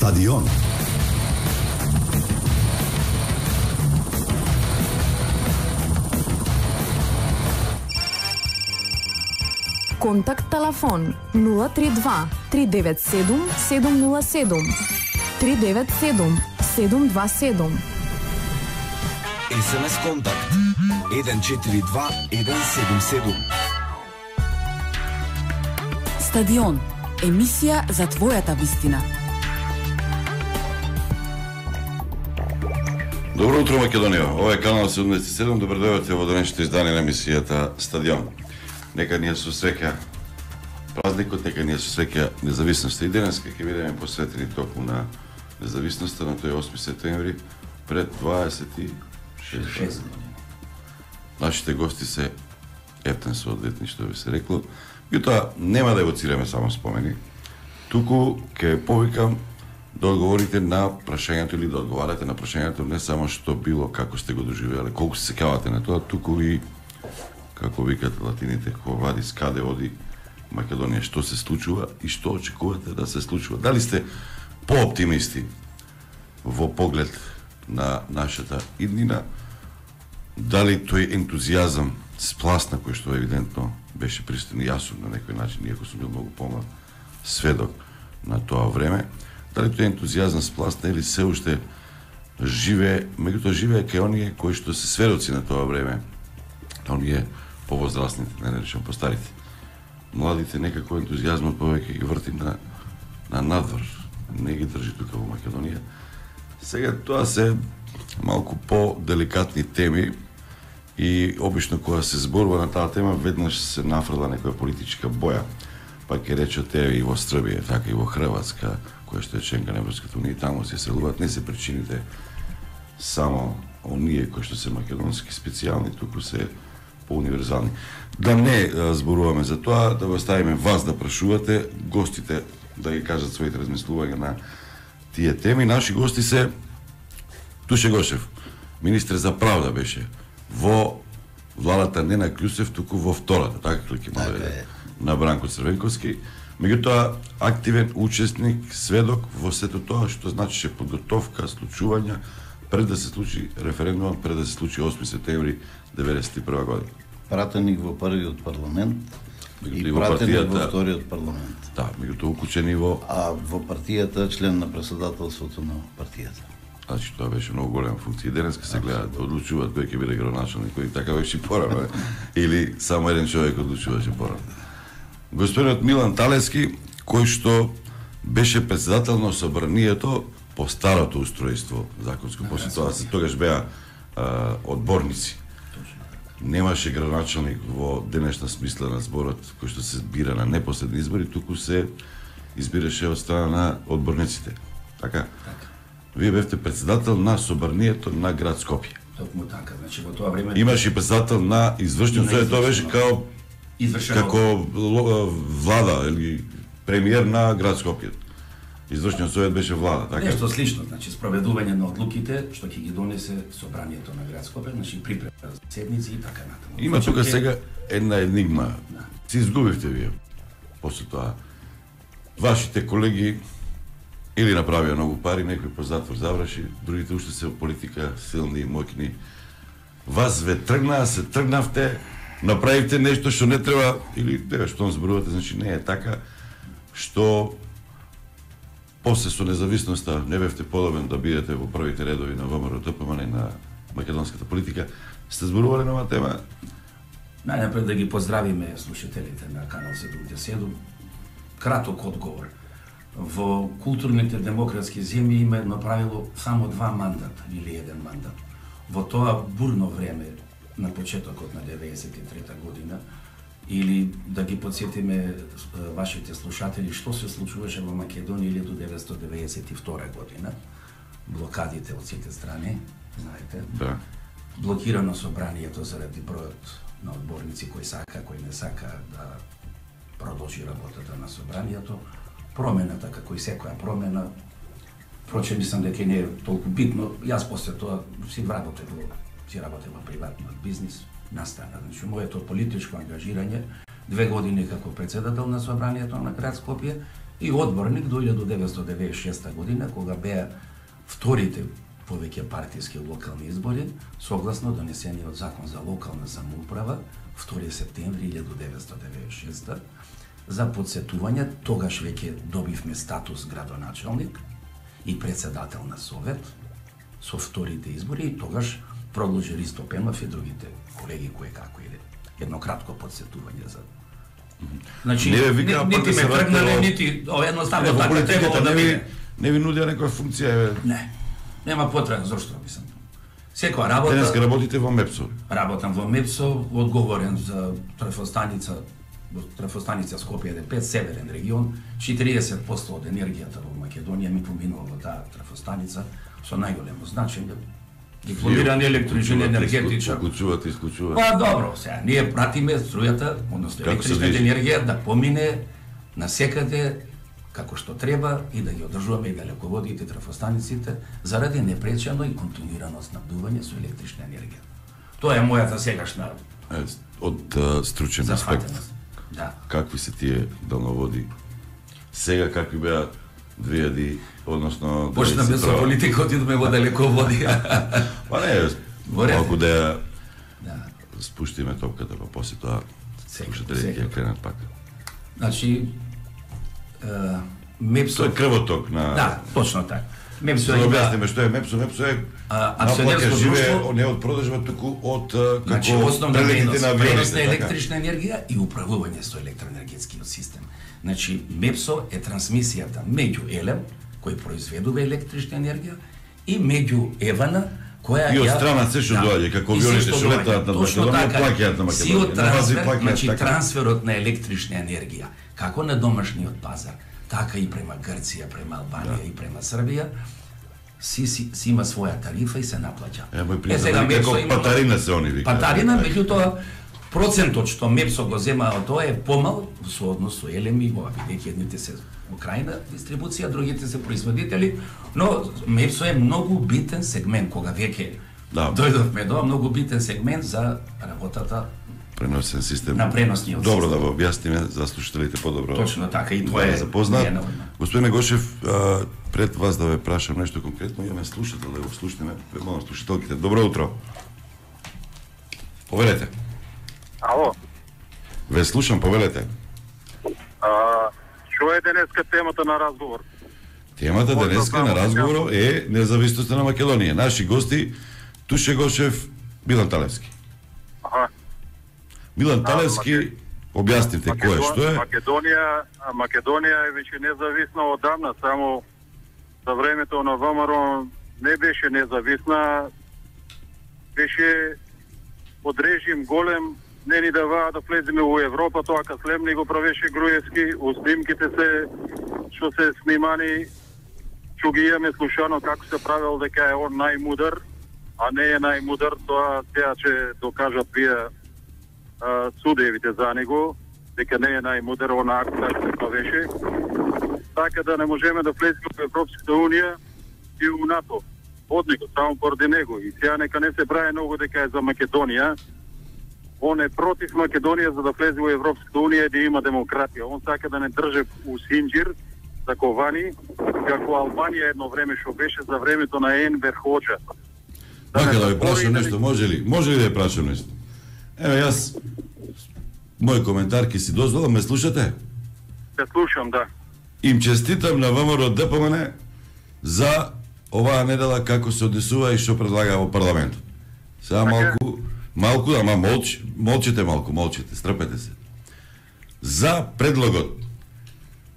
Стадион. Контакт телефон 032 397 707 397 727. СМС контакт 142 177. Стадион. Емисија за твојата вистина. Добро утро, Македонија. Ова е канал 77. Добро дојдовте во денешното издание на емисијата Стадион. Нека ни со среќа празникот, нека ни со среќа независноста. И денес ќе бидеме посветени токму на независноста на тој 8 септември пред 26 години. Нашите гости се ептен соодветни, што би се рекло. Меѓутоа, нема да евоцираме само спомени, туку ќе повикам да одговорите на прашањето или да одговарате на прашањето не само што било, како сте го доживеале, колку се сеќавате на тоа, туку и, како викат латините, ко вадис, каде оди Македонија, што се случува и што очекувате да се случува. Дали сте пооптимисти во поглед на нашата иднина, дали тој ентузијазам спласна кој што евидентно беше пристигнал јас на некој начин, иако сум бил многу помлад сведок на тоа време, дали тој ентузијазам спласна или се уште живее, меѓутоа живее кај оние кои што се сведоци на тоа време, оние повозрастните, не речем постарите. Младите некако ентузијазмот повеќе ги врти на надвор, не ги држи тука во Македонија. Сега тоа се малку по-деликатни теми и обично кога се зборува на таа тема, веднаш се нафрла некоја политичка боја. Па ќе речете и во Србија, така и во Хрватска, која што е членка на Европската унија, таму се селуваат, не се причините само оние кои што се македонски специјални, туку се по-универзални. Да не зборуваме за тоа, да го оставиме вас да прашувате, гостите да ги кажат своите размислувања на тие теми. Наши гости се Туше Гошев, министер за правда беше во владата не на Кљусев, туку во втората, така ли ќе може на Бранко Црвенковски. Меѓутоа, активен учесник, сведок во сето тоа што значише подготовка, случувања, пред да се случи референдумот, пред да се случи 8 септември 1991 година. Пратеник во првиот парламент и пратеник во вториот парламент. Да, меѓутоа укучени во... А во партијата член на председателството на партијата. Значи, тоа беше многу голема функција. Денеска се гледаат, одлучуваат кој ќе биде градоначалник, кој така беше и порано, или само еден човек одлучуваше порано. Господинот Милан Талески, кој што беше председател на собранието по старото устројство законско, после тоа се тогаш беа одборници. Немаше градоначалник во денешна смисла на зборот кој што се бира на непосредни избори, туку се избираше од страна на одборниците. Така? Вие бевте председател на собранието на град Скопје. Токму така, значи во тоа време имаше председател на извршниот совет, тоа беше како влада или премиер на град Скопје. Извршниот совет беше влада, така? Нешто слично, значи спроведување на одлуките што ќе ги донесе собранието на град Скопје, значи припрема за седници и така натаму. Има тука сега една енигма. Се изгубивте вие. После тоа вашите колеги или направија многу пари, некој по затвор заврши, другите уште се во политика, силни, моќни. Вас ве тргнаа, се тргнавте, направивте нешто што не треба, или дева што зборувате, значи не е така, што после со независноста не бевте подобен да бидете во првите редови на ВМРО ДПМН на македонската политика. Сте зборувале на оваа тема? Најнапред да ги поздравиме слушателите на канал 77. Краток одговор. Во културните демократски земји има едно правило само 2 мандата или 1 мандат. Во тоа бурно време на почетокот на 93 година, или да ги подсетиме вашите слушатели што се случуваше во Македонија до 1992 година, блокадите од сите страни, знаете. Да. Блокирано собранието заради бројот на одборници кој сака, кој не сака да продолжи работата на собранието. Промената, како и секоја промена, впрочем, мислам дека не е толку битно. Јас после тоа си работев во приватниот бизнис, настана. Значи, моето политичко ангажирање 2 години како председател на собранието на град Скопје и одборник до 1996 година, кога беа вторите повеќе партиски локални избори, согласно донесениот закон за локална самоуправа, 2 септември 1996, за подсетување, тогаш веќе добивме статус градоначалник и председател на совет со вторите избори и тогаш продолжи Ристо Пенов и другите колеги кои како иде. Едно кратко подсетување за. Значи, нити ме тргнале, нити едноставно така требало да биде. Не ви нудија некоја функција? Не. Нема потреба, зашто мислам. Секоја работа... Денеска работите во МЕПСО? Работам во МЕПСО, одговорен за трафостаница Скопје ДП, северен регион, 40% од енергијата во Македонија ми поминува во таа трафостаница со најголемо значење. Дипломиран електричен енергетичар. Исклучувате. Па добро, сега ние пратиме струјата, односно електричната енергија да помине насекаде како што треба и да ги одржуваме и далеководите, трафостаниците, заради непречено и континуирано снабдување со електрична енергија. Тоа е мојата сегашна од стручен аспект. Да. Какви се тие далноводи? Сега какви беа 2000, односно... Почна без политика, отидоме во далеководи. Па не, малку да ја спуштиме топката, па после тоа слушателите ќе кренат пак. Значи, МЕПСО... Тоа е крвоток на... Да, точно така. МЕПСО е... Објасниме што е МЕПСО. МЕПСО е акционерско друштво, не од продажба, туку од како основна дейност, пренос на електрична така. енергија и управување со електроенергетскиот систем. Значи, МЕПСО е трансмисијата меѓу ЕЛЕМ, кој произведува електрична енергија, и меѓу ЕВАНА, која и од страна се што доаѓа, како авионите што летаат на Македонија, плаќаат на Македонија. Сиот трансфер, значи трансферот на електрична енергија, како на домашниот пазар, така и према Грција, према Албанија и према Србија, си има своја тарифа и се наплаќа. Сега како патарина се они викаат. Патарина, меѓутоа процентот што МЕПСО го зема од тоа е помал со однос со ЕЛЕМ и бидејќи едните се крајна дистрибуција, другите се производители, но МЕПСО е многу битен сегмент кога веќе дојдовме до многу битен сегмент за работата преносен систем. На преносниот Добро систем. Да го објасниме за слушателите подобро. Точно така и тоа е запознат. Господине Гошев, пред вас да ве прашам нешто конкретно, имаме слушател, да го слушнеме, молам слушателките. Добро утро. Повелете. Ало. Ве слушам, повелете. Што е денеска темата на разговор? Темата денеска на разговор е независноста на Македонија. Наши гости Туше Гошев, Милан Талевски. Милан Талевски, објаснite кој е, што е? Македонија е веќе независна одамна, само за времето на ВМРО не беше независна, беше под режим голем, не ни даваа да влеземе во Европа, тоа каслемни го правеше Груевски, у снимките се, што се снимани, што ги имаме слушано како се правил дека е он најмудар, а не е најмудар, тоа сега ќе докажат вие судевите за него, дека не е најмудар, она како се правеше. Така да не можеме да влеземе во Европската Унија и у НАТО. Од него, само поради него. И сега нека не се прави многу дека е за Македонија. Он е против Македонија за да влезе во Европската Унија и да има демократија. Он сака да не држе у синџир, заковани, како Албанија едно време што беше за времето на Енвер Хоџа. Така да ви прашам нешто, може ли? Може ли да ви прашам нешто? Еве јас, мој коментар ки си дозволам, ме слушате? Те слушам, да. Им честитам на ВМРО ДПМН за оваа недела како се однесува и што предлага во парламентот. Сега малку, ама молчите, стрпете се. За предлогот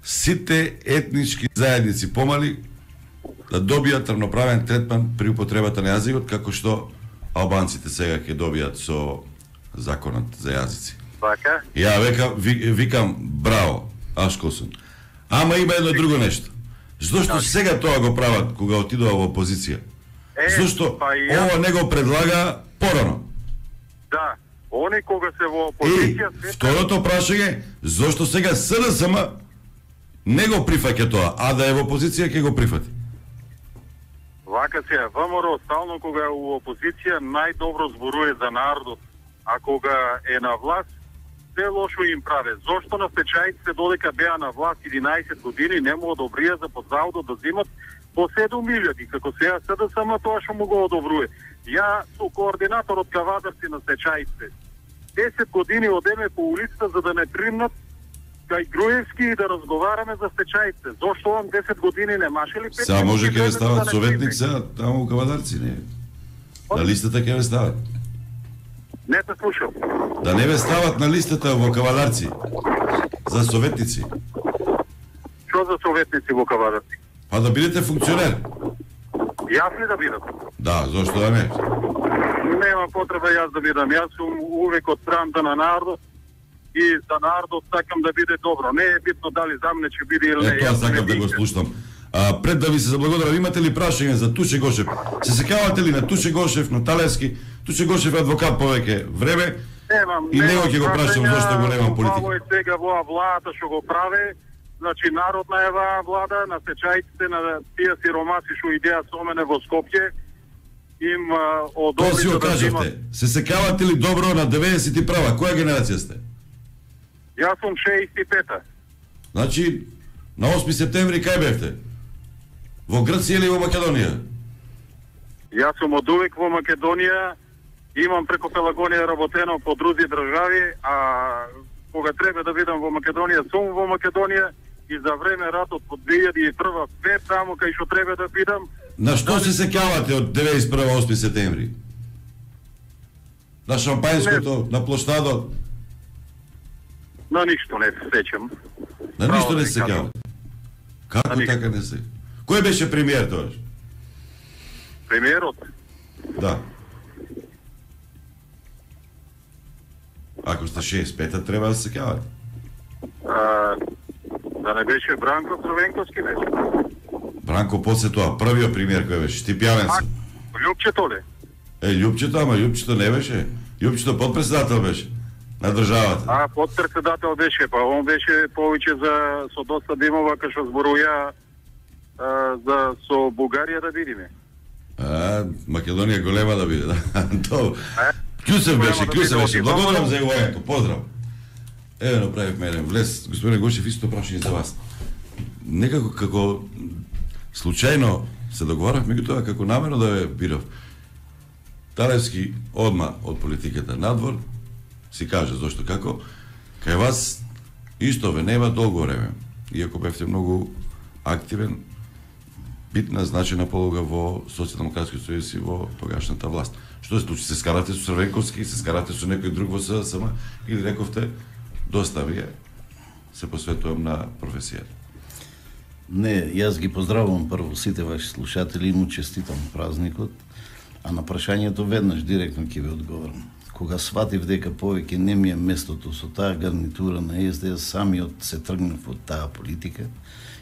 сите етнички заедници помали да добијат равноправен третман при употребата на јазикот, како што албанците сега ќе добијат со законот за јазици. Така? Ја викам браво, Ашкосун. Ама има едно друго нешто. Зошто сега тоа го прават кога отидува во опозиција? Зошто ова не го предлага порано? Да, они кога се во опозиција... Второто прашање, зошто сега СДСМ не го прифаќа тоа, а да е во опозиција ќе го прифати? Вака се, ВМРО стално кога е во опозиција најдобро зборува за народот, а кога е на власт, се лошо им праве. Зошто на стечајците додека беа на власт 11 години не му одобрија за под заводот да земат по 7.000, како сега СДСМ тоа што му го одобрува. Ја сум координатор од кавадарци на стечајците. 10 години одеме по улицата за да не примнат кај Груевски и да разговараме за стечајците. Зошто он 10 години не маше ли 5? Сега може ќе ве стават советник сега таму у кавадарци, не? На листата ќе ве стават. Не те слушам. Да не ве стават на листата во кавадарци за советници. Што за советници во кавадарци? Па да бидете функционер. Јас ли да бидам? Да, зошто да не? Нема потреба јас да бидам. Јас сум увек од страната на народот и за народот сакам да биде добро. Не е битно дали за мене ќе биде или не. Тоа сакам да го слушам. Пред да ви се заблагодарам, имате ли прашање за Туше Гошев? Се сеќавате ли на Туше Гошев, на Талевски? Туше Гошев е адвокат повеќе време. И него ќе го прашам зошто го немам политика. Право е сега во владата што го праве. Значи народна е ваа влада, на стечајците на тие сиромаси што идеа со мене во Скопје им одобри. Тоа си го кажавте. Се сеќавате ли добро на 91-а? Која генерација сте? Јас сум 65-та. Значи, на 8 септември кај бевте? Во Грција или во Македонија? Јас сум од увек во Македонија, имам преку Пелагонија работено по други држави, а кога треба да бидам во Македонија, сум во Македонија и за време ратот од 2001 пет таму кај што треба да бидам. На што се сеќавате од 91 8 септември? На шампајнското, на площадот? На ништо не се сеќам. На ништо не се сеќавате? Како така не се? Кој беше премиер тогаш? Премиерот? Да. Ако сте 65-та, треба да се сеќавате. Да не беше Бранко Црвенковски беше? Бранко после тоа, првиот премиер кој беше, Стипјанен се. Љупчето ли? Љупчето, ама Љупчето не беше. Љупчето подпредседател беше на државата. Подпредседател беше, па он беше повеќе за со доста димова кај што зборуја за со Бугарија да видиме. Македонија голема да биде, да. Тоа. Кјусев беше. Благодарам за евојањето. Поздрав. Еве направивме еден влез. Господин Гошев, исто прашање за вас. Некако како случајно се договоравме тоа како намерно да ве бирав. Талевски одма од политиката надвор си каже зошто како кај вас исто ве нема долго време. Иако бевте многу активен, битна, значена полога во Социјалдемократскиот сојуз и во тогашната власт. Што се случи? Се скарате со Црвенковски, се скарате со некој друг во СДСМ или рековте доста вие се посветувам на професијата? Не, јас ги поздравувам прво сите ваши слушатели и му честитам празникот, а на прашањето веднаш директно ќе ви одговорам. Кога сватив дека повеќе не ми е местото со таа гарнитура на СДС, самиот се тргнав од таа политика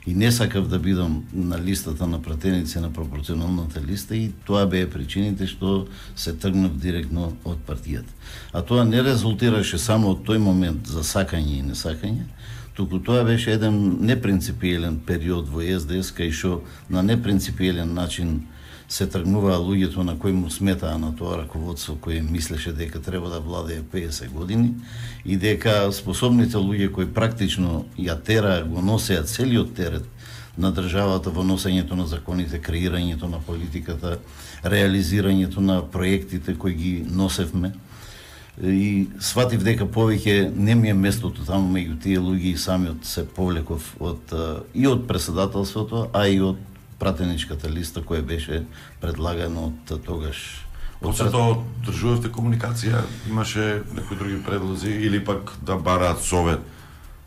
и не сакав да бидам на листата на пратеници на пропорционалната листа и тоа беа причините што се тргнав директно од партијата. А тоа не резултираше само од тој момент за сакање и несакање, туку тоа беше еден непринципиелен период во СДС кај што на непринципиелен начин се тргнуваа луѓето на кои му сметаа на тоа раководство кој мислеше дека треба да владее 50 години и дека способните луѓе кои практично ја тераа, го носеа целиот терет на државата во носењето на законите, креирањето на политиката, реализирањето на проектите кои ги носевме. И сватив дека повеќе не ми е местото таму меѓу тие луѓе и самиот се повлеков и од претседателството, а и од пратеничката листа која беше предлагана од тогаш. После тоа одржувавте комуникација, имаше некои други предлози или пак да бараат совет?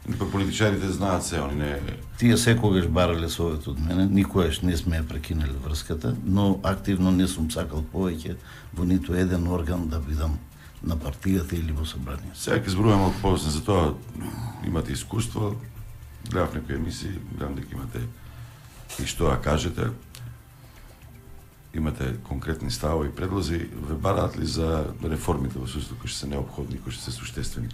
Или пак политичарите знаат се, они не... Тие секогаш барале совет од мене, никогаш не сме ја прекинале врската, но активно не сум сакал повеќе во ниту еден орган да бидам на партијата или во собрание. Сега ќе зборувам малку повеќе за тоа, имате искуство, гледав некои емисии, гледам дека имате и што ја кажете, имате конкретни ставови и предлози, ве бараат ли за реформите во судството кои што се неопходни, кои што се суштествени?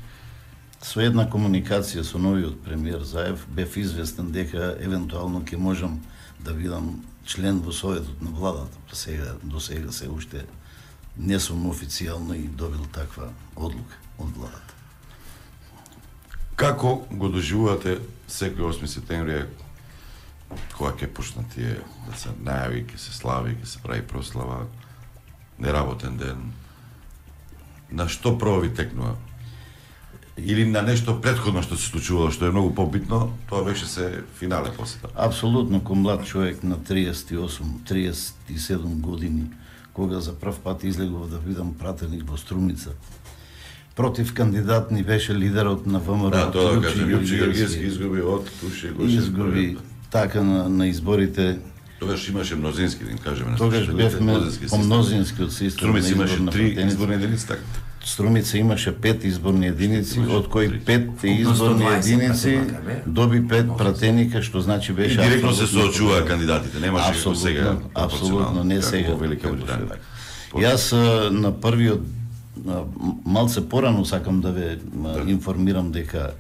Со една комуникација со новиот премиер Заев бев известен дека евентуално ќе можам да бидам член во советот на владата. До сега се уште не сум официјално и добил таква одлука од владата. Како го доживувате секој 8 септември, кога ќе почнат тие да се најави, ќе се слави, ќе се прави прослава, неработен ден? На што прво ви текнува? Или на нешто претходно што се случувало, што е многу побитно, тоа беше се финале после тоа? Апсолутно, ко млад човек на 38-37 години, кога за прв пат излегов да бидам пратеник во Струмица, против кандидат ни беше лидерот на ВМРО. Да, тоа да кажем, Јупче Георгиевски изгуби од Туше Гошев. Изгуби така на изборите. Тогаш имаше мнозински, да им кажеме на Тогаш бевме по мнозинскиот систем. Струмица имаше 3 изборни единици, така? Струмица имаше 5 изборни единици, од кои 5 изборни единици доби 5 пратеника, што значи беше... И директно се соочуваа кандидатите, немаше како сега. Апсолутно, не сега. Велика Британија. Јас на првиот, малце порано сакам да ве информирам дека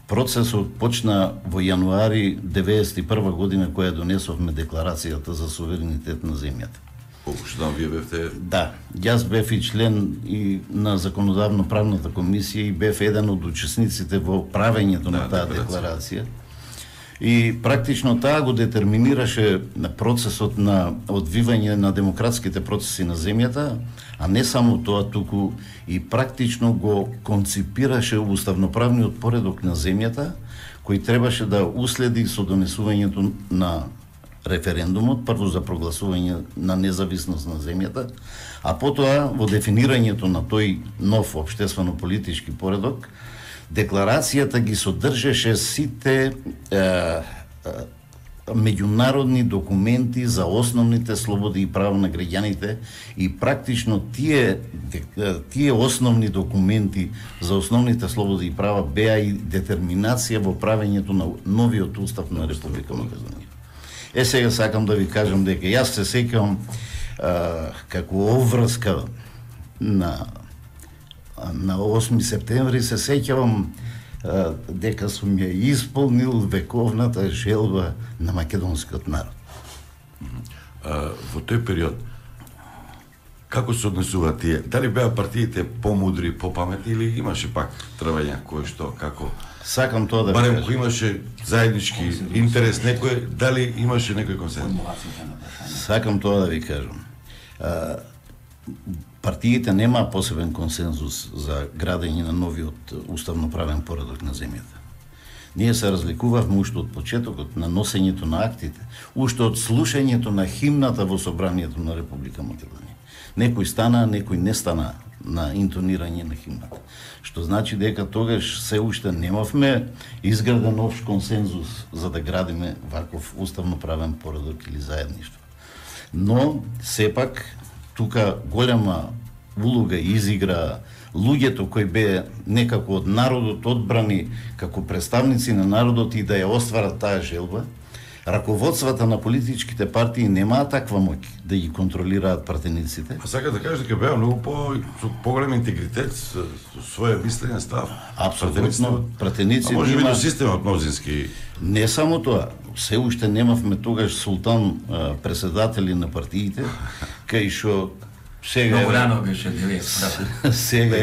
процесот почна во јануари 91 година, која донесовме декларацијата за суверенитет на земјата. Колку што вие бевте? Да, јас бев и член и на законодавно-правната комисија и бев еден од учесниците во правењето на таа декларација. И практично таа го детерминираше на процесот на одвивање на демократските процеси на земјата, а не само тоа, туку и практично го конципираше уставноправниот поредок на земјата, кој требаше да уследи со донесувањето на референдумот, прво за прогласување на независност на земјата, а потоа во дефинирањето на тој нов општествено-политички поредок, декларацијата ги содржеше сите меѓународни документи за основните слободи и права на граѓаните и практично тие основни документи за основните слободи и права беа и детерминација во правењето на новиот устав на Република Македонија. Сега сакам да ви кажам дека јас се сеќавам како обврска на 8 септември, се сеќавам дека сум ја исполнил вековната желба на македонскиот народ. Во тој период, како се однесуваат тие? Дали беа партиите помудри, попаметни или имаше пак трвања кој што, како? Сакам тоа да ви барем кажам. кој имаше заеднички интерес некој, дали имаше некој консензус? Сакам тоа да ви кажам. Партиите немаа посебен консензус за градење на новиот уставноправен поредок на земјата. Ние се разликувавме уште од почетокот на носењето на актите, уште од слушањето на химната во собранието на Република Македонија. Некој стана, некој не стана на интонирање на химната. Што значи дека тогаш се уште немавме изграден општ консензус за да градиме ваков уставноправен поредок или заедништво. Но сепак тука голема улога изигра луѓето кои беа некако од народот одбрани како представници на народот и да ја остварат таа желба. Раководствата на политичките партии немаат таква моќ да ги контролираат пратениците. А сака да кажеш дека беа многу со поголем интегритет, со своја мислење, став. Апсолутно, пратеници може би нема... до системот мнозински. Не само тоа, се уште немавме тогаш султан преседатели на партиите, кај што сега Много рано беше 90. сега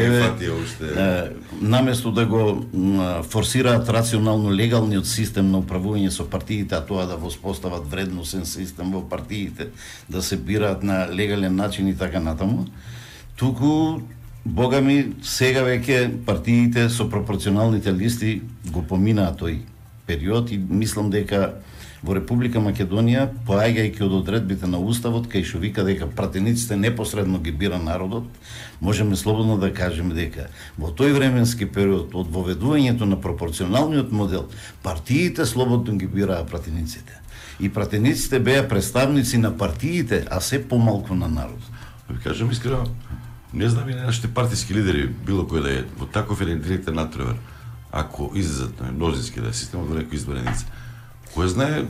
наместо да го форсираат рационално легалниот систем на управување со партиите, а тоа да воспостават вредносен систем во партиите, да се бираат на легален начин и така натаму, туку богами сега веќе партиите со пропорционалните листи го поминаа тој период и мислам дека во Република Македонија, поаѓајќи од одредбите на Уставот, кај што вика дека пратениците непосредно ги бира народот, можеме слободно да кажеме дека во тој временски период од воведувањето на пропорционалниот модел, партиите слободно ги бираа пратениците. И пратениците беа представници на партиите, а се помалку на народот. Ви кажам искрено, не знам и нашите партиски лидери, било кој да е, во таков еден директен надпревар, ако излезат на мнозински да е системот во некој избраница, кој знае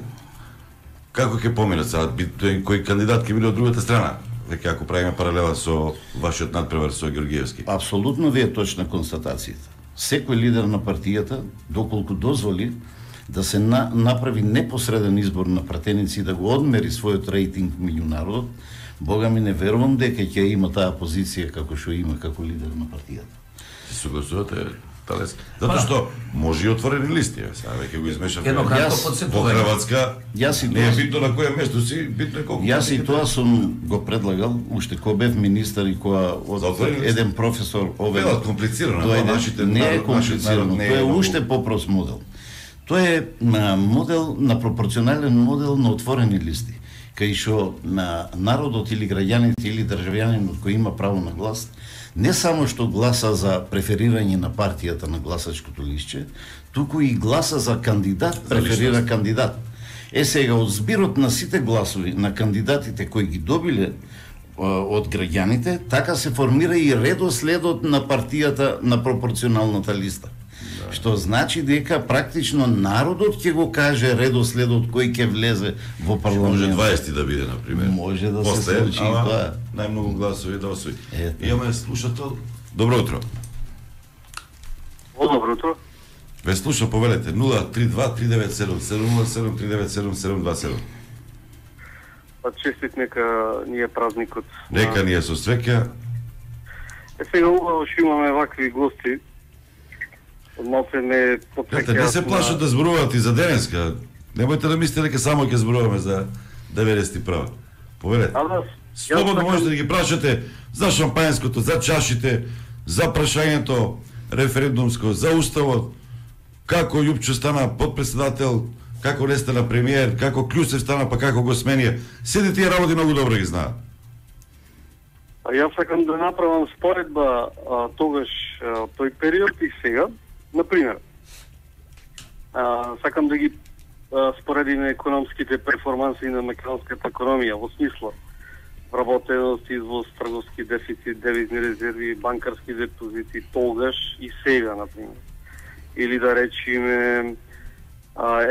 како ќе поминат сега, кој кандидат ќе биде од другата страна, веќе ако правиме паралела со вашиот надпревар со Георгиевски. Апсолутно ви е точна констатацијата. Секој лидер на партијата, доколку дозволи да се направи непосреден избор на пратеници и да го одмери својот рейтинг меѓу народот, бога ми не верувам дека ќе има таа позиција како што има како лидер на партијата. Се согласувате Талес. Затоа што може и отворени листи, сега веќе го измешав. Едно кратко Во подсетување. Хрватска Јас и не е тоа- битно на кое место си, битно е колку. Јас и тоа сум го предлагал, уште кога бев министар и кога За отворени листи? еден професор овде Велат комплицирано, дојде, нашите не е народ- нашиот народ комплицирано, не е тоа е многу. уште попрост модел. Тоа е модел на пропорционален модел на отворени листи, кај што на народот или граѓаните или државјанинот кој има право на глас, не само што гласа за преферирање на партијата на гласачкото листче, туку и гласа за кандидат, преферира личност. кандидат. Сега, од збирот на сите гласови на кандидатите кои ги добиле од граѓаните, така се формира и редоследот на партијата на пропорционалната листа. Што значи дека практично народот ќе го каже редоследот кој ќе влезе во Може парламент. 20 да биде, например. Може да се После, случи и ама тоа. најмногу гласови да освои. Ето. Имаме слушател. Добро утро. Добро утро. Ве слуша, повелете 032-397-707-397-727. Па честит нека ни е празникот. Нека ни е со среќа. Сега убаво што имаме вакви гости. Малце ме Гледате, не се плашат да зборуваат и за денеска. Немојте да мислите дека само ќе зборуваме за 91. Повелете. Слободно можете да ги прашате за шампањското, за чашите, за прашањето референдумско, за уставот, како Јупчо стана подпредседател, како не стана премиер, како Клюсев стана, па како го сменија. Сите тие работи многу добро ги знаат. Јас сакам да направам споредба тогаш тој период и сега. Например, сакам да ги споредиме економските перформанси на македонската економија во смисла вработеност, извоз, трговски дефицит, девизни резерви, банкарски депозити тогаш и сега, например. Или да речеме,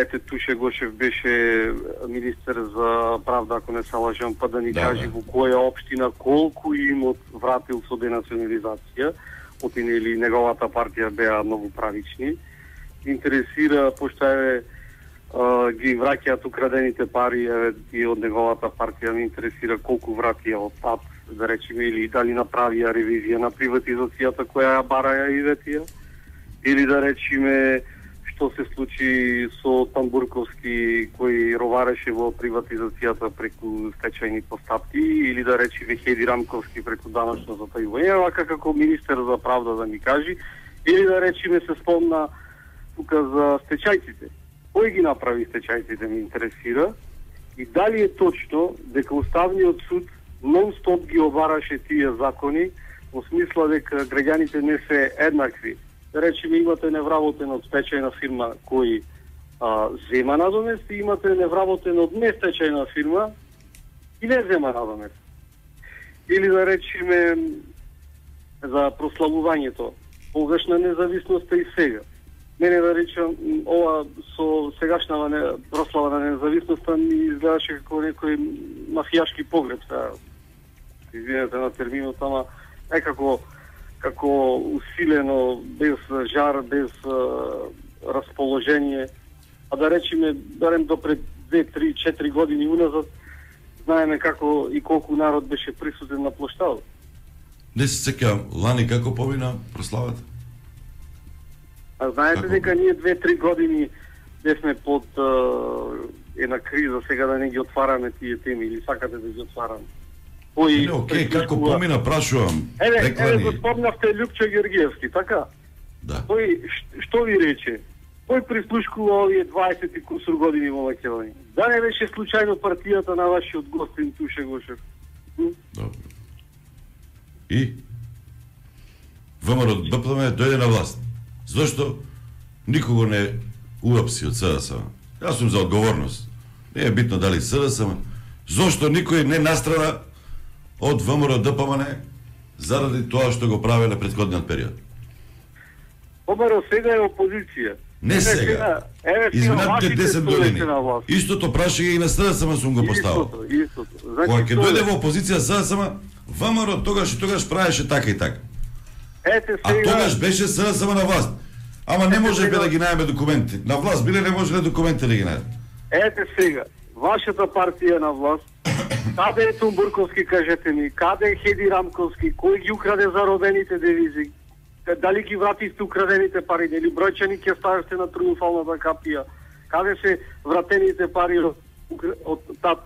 ете Туше Гошев беше министер за правда, ако не се лажам, па да ни каже во која општина колку имот вратил со денационализација, отине или неговата партија беа многу правични. Интересира, пошто ги враќаат украдените пари и од неговата партија, ме интересира колку вратија од ТАП, да речеме, или дали направија ревизија на приватизацијата која ја бараја и ветија, или да речеме што се случи со Тамбурковски кој ровареше во приватизацијата преку стечајни постапки, или да речеме Хеди Рамковски преку данашно затајување, вака како министер за правда да ми кажи, или да речеме се спомна тука за стечајците. Кој ги направи стечајците ме интересира и дали е точно дека Уставниот суд нон-стоп ги обараше тие закони во смисла дека граѓаните не се еднакви. Да речеме, имате невработен од стечајна фирма кој зема надомест и имате невработен од нестечајна фирма и не зема надомест. Или да речеме за прославувањето, тогаш на независноста и сега. Мене да речам, ова со сегашната прослава на независноста ми изгледаше како некој мафијашки погреб. Извинете на терминот, ама некако како усилено, без жар, без расположение. А да речеме, барем до пред 2, 3, 4 години уназад, знаеме како и колку народ беше присутен на плоштадот. Не се сеќавам, лани како помина прославата? А знаете дека ние 2-3 години бевме под една криза, сега да не ги отвараме тие теми, или сакате да ги отвараме? Не, окей, како помина, прашувам. Еве го спомнавте Љупчо Георгиевски, така? Да. Тој што ви рече? Тој прислушкува овие 20 и кусур години во Македонија. Да не беше случајно партијата на вашиот гостин Туше Гошев? Добро. И ВМРО БПМ дојде на власт. Зошто никого не уапси од СДСМ? Јас сум за одговорност. Не е битно дали СДСМ. Зошто никој не настрада од ВМРО ДПМН заради тоа што го правеле претходниот период? ВМРО сега е опозиција. Не сега. Изминатите 10 години. Истото прашање и на СДСМ сум го поставил. Истото. Кога ќе дојде во опозиција СДСМ, ВМРО тогаш и тогаш правеше така и така. Ете А сега... тогаш беше СДСМ на власт. Ама не можеме да ги најме документи. На власт биле, не можеле документи да ги најме. Ете сега, вашата партија на власт, каде е Тамбурковски, кажете ми, каде е Хеди Рамковски, кој ги украде заробените девизи, Дали ги вративте украдените пари, дали бројчани ќе ставите на триумфалната капија? Каде се вратените пари од ТАП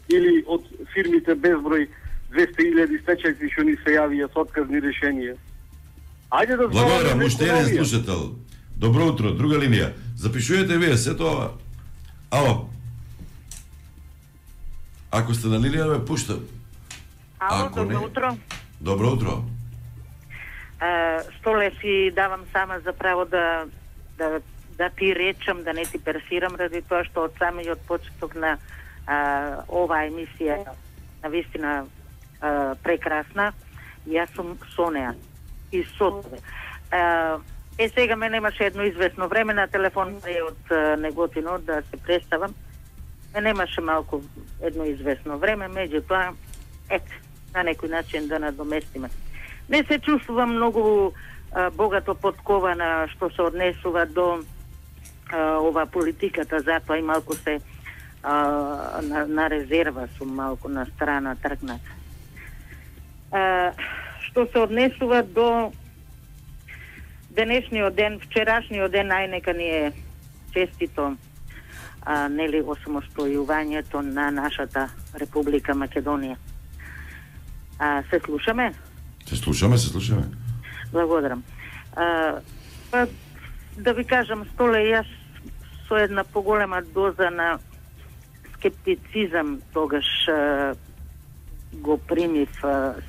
или од фирмите безброј 200.000 стечајци што ни се јавија со отказни решенија? Ајде да Благодарам, уште еден слушател. Добро утро, друга линија. Запишувате вие сето ова. Ало. Ако сте на линија, да ме пуштам. Ало, добро утро. Добро утро. Столе си давам сама за право да ти речам, да не ти персирам, ради тоа што од самиот почеток на оваа емисија навистина прекрасна. Јас сум со неа и со тебе. Сега мене имаше едно известно време на телефон од Неготино да се представам. Мене имаше малку едно известно време, меѓутоа на некој начин да надоместиме. Не се чувствувам многу богато подкована што се однесува до ова политиката, затоа и малку се на резерва сум, малку на страна тргнат. Што се однесува до денешниот ден, вчерашниот ден, најнека ни е честито нели осамостојувањето на нашата Република Македонија. Се слушаме? Се слушаме. Благодарам. Да ви кажам, Столе, јас со една поголема доза на скептицизам тогаш го примив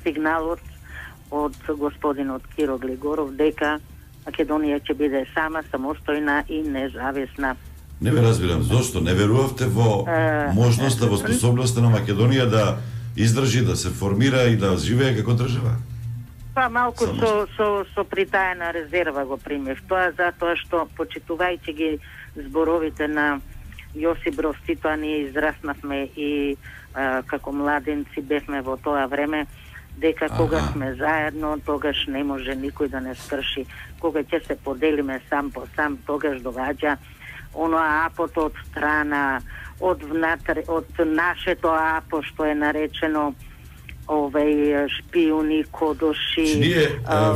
сигналот од господинот Киро Глигоров дека Македонија ќе биде сама, самостојна и независна. Не ве разбирам, зошто не верувавте во можноста, во способноста на Македонија да издржи, да се формира и да живее како држава? Па малку со притаена резерва го примев. Тоа затоа што, почитувајќи ги зборовите на Јосип Broz Tito, ние израснавме и како младенци бевме во тоа време, дека кога сме заедно, тогаш не може никој да не скрши. Кога ќе се поделиме сам по сам, тогаш доаѓа оноа апото од страна, од внатре, од нашето апо што е наречено овај шпиони, кодоши.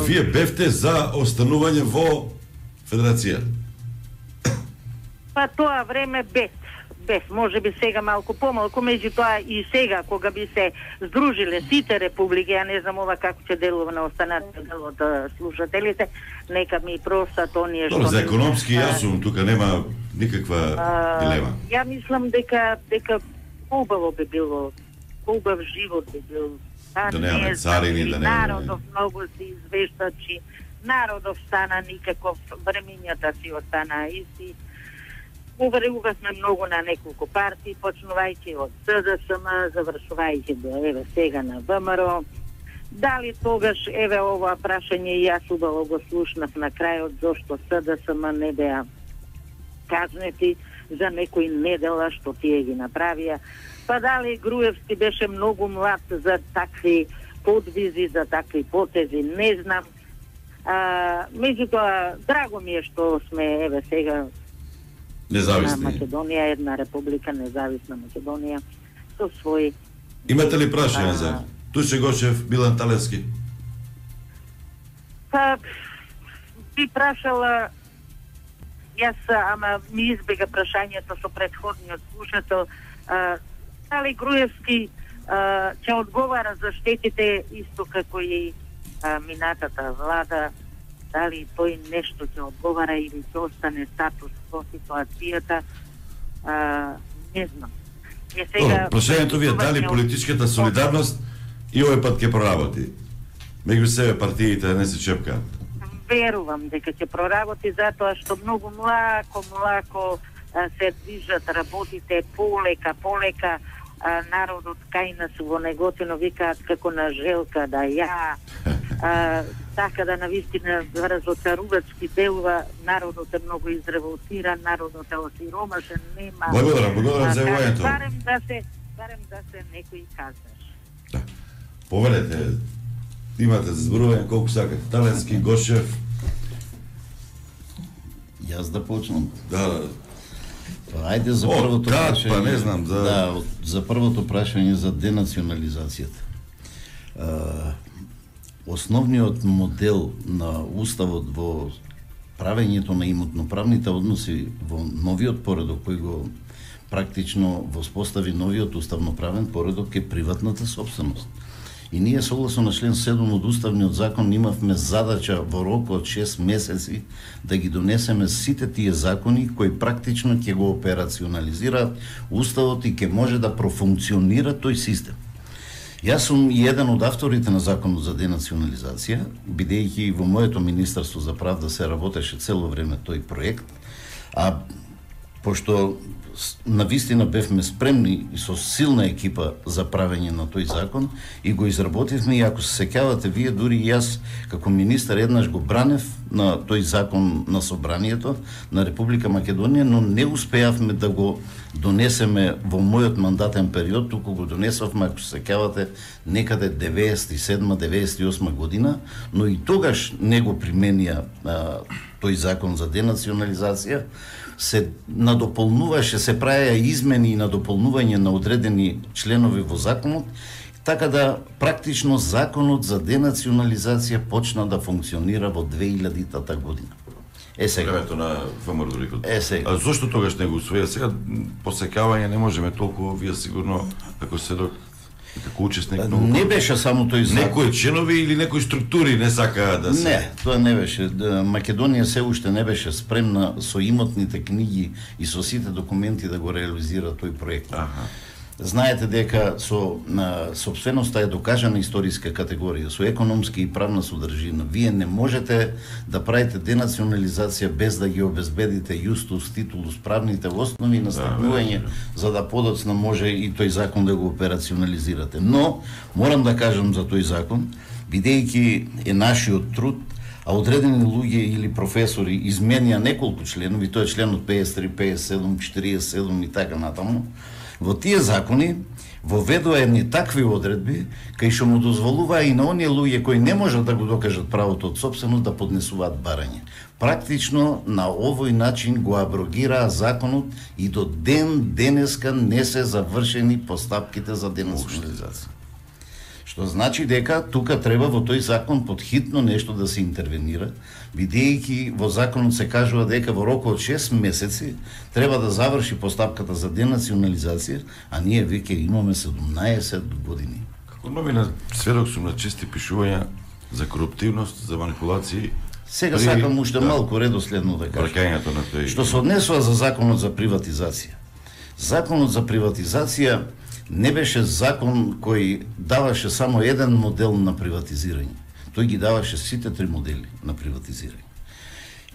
Вие бевте за останување во Федерација? Па тоа време бев, може би сега малку помалку, меѓутоа и сега кога би се здружиле сите републики, ја не знам ова како ќе делува на останатиот дел од слушателите, нека ми простат оние што... За економски јас сум, тука нема никаква дилема. Ја мислам дека убаво би било, убав живот би бил. Да немаме царини, да немаме... Народов многу се извештачи, народов стана никаков, времењата си остана исти. Уверувавме многу на неколку партии, почнувајќи од СДСМ, завршувајќи до еве сега на ВМРО. Дали тогаш, еве ова прашање, јас убаво го слушнав на крајот, зошто СДСМ не беа казнети за некои недела што тие ги направија. Па дали Груевски беше многу млад за такви подвизи, за такви потези, не знам. Меѓутоа, драго ми е што сме, еве сега, независни. На Македонија, една република, независна Македонија, со своји... Имате ли прашање за Туше Гошев, Милан Талевски? Па, би прашала, јас, ама ми избега прашањето со претходниот слушател, дали Груевски ќе одговара за штетите исто како и минатата влада, дали тој нешто ќе одговара или ќе остане статус во ситуацијата, не знам. Прашањето ви е дали политичката солидарност и овој пат ќе проработи? Меѓу себе партиите не се чепкаат. Верувам дека ќе проработи, затоа што многу млако се движат работите, полека, народот кај нас во Неготино викаат како на желка да ја, така да навистина разочарувачки делува, народот е многу изреволтиран, народот е осиромашен, нема... Благодарам за јавањето. Барем да се некој казаш. Да. Повелете, имате за зборување колку сакате. Талевски, Гошев. Јас да почнам. Да. Ајде за првото прашање. Па не знам, за првото прашање за денационализацијата. основниот модел на уставот во правењето на имотноправните односи во новиот поредок кој го практично воспостави новиот уставноправен поредок е приватната собственост. И ние согласно на член 7 од уставниот закон имавме задача во рок од 6 месеци да ги донесеме сите тие закони кои практично ќе го операционализираат уставот и ќе може да профункционира тој систем. Јас сум и еден од авторите на законот за денационализација, бидејќи во моето Министерство за правда се работеше цело време тој проект, а пошто навистина бевме спремни и со силна екипа за правење на тој закон и го изработивме, и ако се сеќавате вие, дури и јас како министар еднаш го бранев на тој закон на собранието на Република Македонија, но не успеавме да го донесеме во мојот мандатен период, туку го донесовме, ако се сеќавате, некаде 97-98 година, но и тогаш не го применија тој закон за денационализација, се надополнуваше, се правеа измени и надополнување на одредени членови во законот, така да практично законот за денационализација почна да функционира во 2000-та година. Сега. Времето на ВМРО дори. Сега. А зошто тогаш не го усвоја? Сега посекавање не можеме толку, вие сигурно како седок како учесник многу. Не беше само тој закон. Некои членови или некои структури не сакаа да се... Не, тоа не беше. Македонија се уште не беше спремна со имотните книги и со сите документи да го реализира тој проект. Знаете дека со собственоста е докажана историска категорија, со економски и правна содржина. Вие не можете да правите денационализација без да ги обезбедите јустус, титулус, правните основи на стапнување, за да подоцна може и тој закон да го операционализирате. Но, морам да кажам за тој закон, бидејќи е нашиот труд, а одредени луѓе или професори изменија неколку членови, тоа е членот 53, 57, 47 и така натаму, во тие закони воведува едни такви одредби кај што му дозволува и на оние луѓе кои не можат да го докажат правото од собственост да поднесуваат барање. Практично на овој начин го аброгираа законот и до денеска не се завршени постапките за денационализација. Што значи дека тука треба во тој закон подхитно нешто да се интервенира, бидејќи во законот се кажува дека во рок од 6 месеци треба да заврши постапката за денационализација, а ние веќе имаме 17 години. Како новина сведок сум на чести пишувања за коруптивност, за манипулации. Сега сакам уште малку редоследно да кажам. Што се однесува за законот за приватизација. Законот за приватизација не беше закон кој даваше само еден модел на приватизирање. Тој ги даваше сите три модели на приватизирање.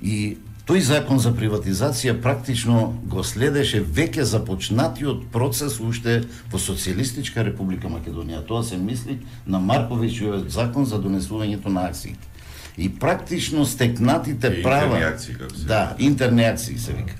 И тој закон за приватизација практично го следеше веќе започнатиот процес уште во Социјалистичка Република Македонија. Тоа се мисли на Марковичиот закон за донесувањето на акциите. И практично стекнатите права... Интерни акции, како се. Да, интерни акции се вика.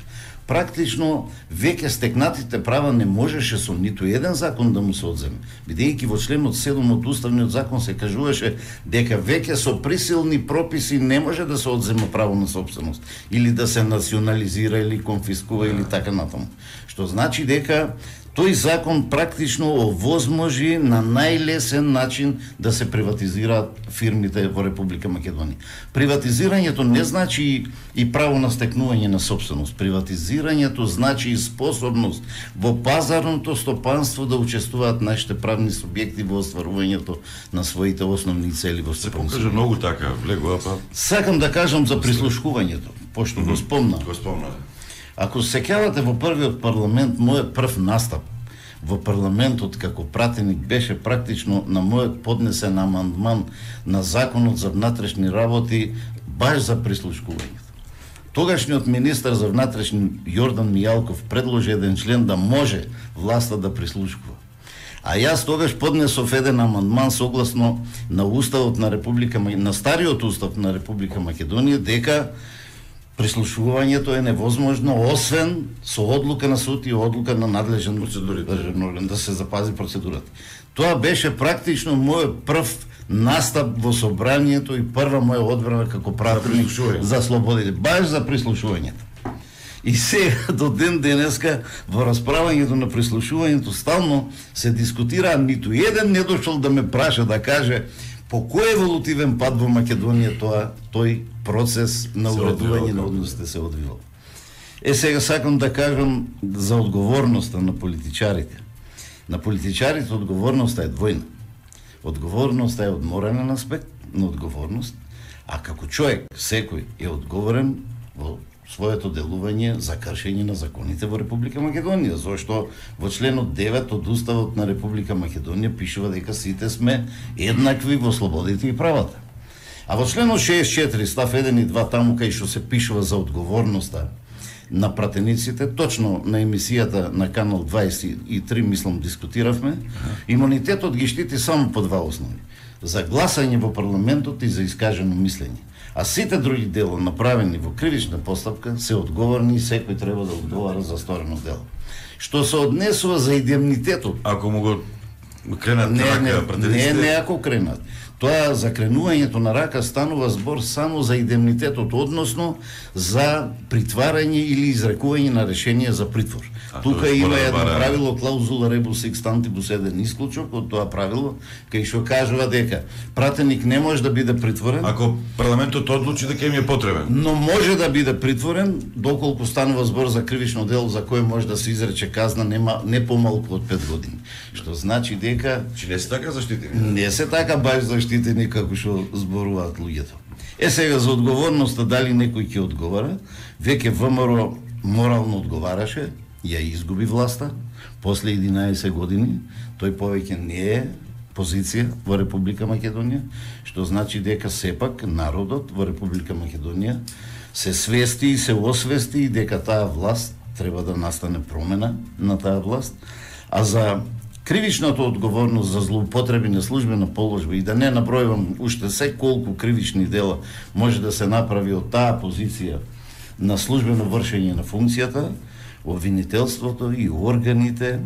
Практично веќе стекнатите права не можеше со ниту еден закон да му се одземе, бидејќи во членот 7 од уставниот закон се кажуваше дека веќе со присилни прописи не може да се одзема право на собственост или да се национализира или конфискува или така натаму. Што значи дека тој закон практично овозможи на најлесен начин да се приватизираат фирмите во Република Македонија. Приватизирањето не значи и право на стекнување на собственост. Приватизирањето значи и способност во пазарното стопанство да учествуваат нашите правни субјекти во остварувањето на своите основни цели во стопанството. Се покажа многу така, влегува па. Сакам да кажам за прислушкувањето, пошто го спомна. Го спомна. Ако се сеќавате во првиот парламент, мојот прв настап во парламентот како пратеник беше практично на мојот поднесен амандман на законот за внатрешни работи баш за прислушкувањето. Тогашниот министар за внатрешни Јордан Мијалков предложи еден член да може власта да прислушкува. А јас тогаш поднесов еден амандман согласно на уставот на на стариот устав на Република Македонија дека прислушувањето е невозможно освен со одлука на суд и одлука на надлежен државен орган да се запази процедурата. Тоа беше практично мојот прв настап во собранието и прва моја одбрана како пратеник за слободите, баш за прислушувањето. И сега до ден денеска во расправањето на прислушувањето стално се дискутира, ниту еден не дошол да ме праша да каже По кој еволутивен пат во Македонија тој процес на уредување на односите се одвива? Сега сакам да кажам за одговорноста на политичарите. На политичарите одговорноста е двојна. Одговорноста е од морален аспект на одговорност, а како човек секој е одговорен во своето делување за кршење на законите во Република Македонија, зашто во членот 9 од Уставот на Република Македонија пишува дека сите сме еднакви во слободите и правата. А во членот 64 став 1 и 2 таму кај што се пишува за одговорноста на пратениците, точно на емисијата на канал 23 мислам дискутиравме, имунитетот ги штити само по два основи: за гласање во парламентот и за искажено мислење. А сите други дела направени во кривична постапка се одговорни и секој треба да одговара за сторено дело. Што се однесува за индемнитетот, ако му го кренат рака пратениците? Не ако кренат. Тоа за кренувањето на рака станува збор само за индемнитетот, односно за притварање или изрекување на решение за притвор. Тука има едно правило, клаузула rebus sic stantibus, еден исклучок од тоа правило, кај што кажува дека пратеник не може да биде притворен ако парламентот одлучи дека им е потребен. Но може да биде притворен доколку станува збор за кривично дело за кое може да се изрече казна не помалку од 5 години. Што значи дека не се така заштитени. Не се така баш заштитени како што зборуваат луѓето. Сега за одговорноста дали некој ќе одговара, веќе ВМРО морално одговараше, ја изгуби власта после 11 години, тој повеќе не е позиција во Република Македонија, што значи дека сепак народот во Република Македонија се свести и се освести дека таа власт треба да настане промена на таа власт, а за кривичната одговорност за злоупотреби на службена положба и да не набројувам уште се колку кривични дела може да се направи од таа позиција на службено вршење на функцијата, обвинителството и органите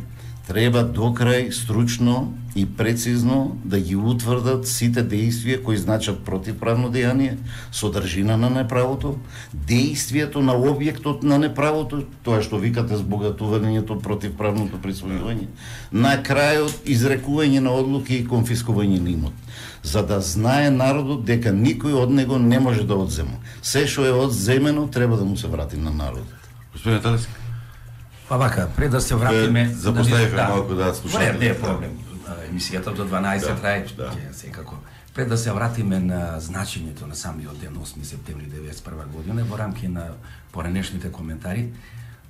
треба до крај стручно и прецизно да ги утврдат сите дејствија кои значат противправно дејание, содржина на неправото, дејствието на објектот на неправото, тоа што викате збогатувањето, противправното присвојување, на крајот изрекување на одлуки и конфискување на имот, за да знае народот дека никој од него не може да одзема. Се што е одземено треба да му се врати на народот. Господин Талиски. Па вака, пред да се вратиме... Запоставивме малку да слушаме. Не е проблем. Емисијата до 12 трае, секако. Пред да се вратиме на значењето на самиот ден 8 септември 1991 година, во рамки на поранешните коментари,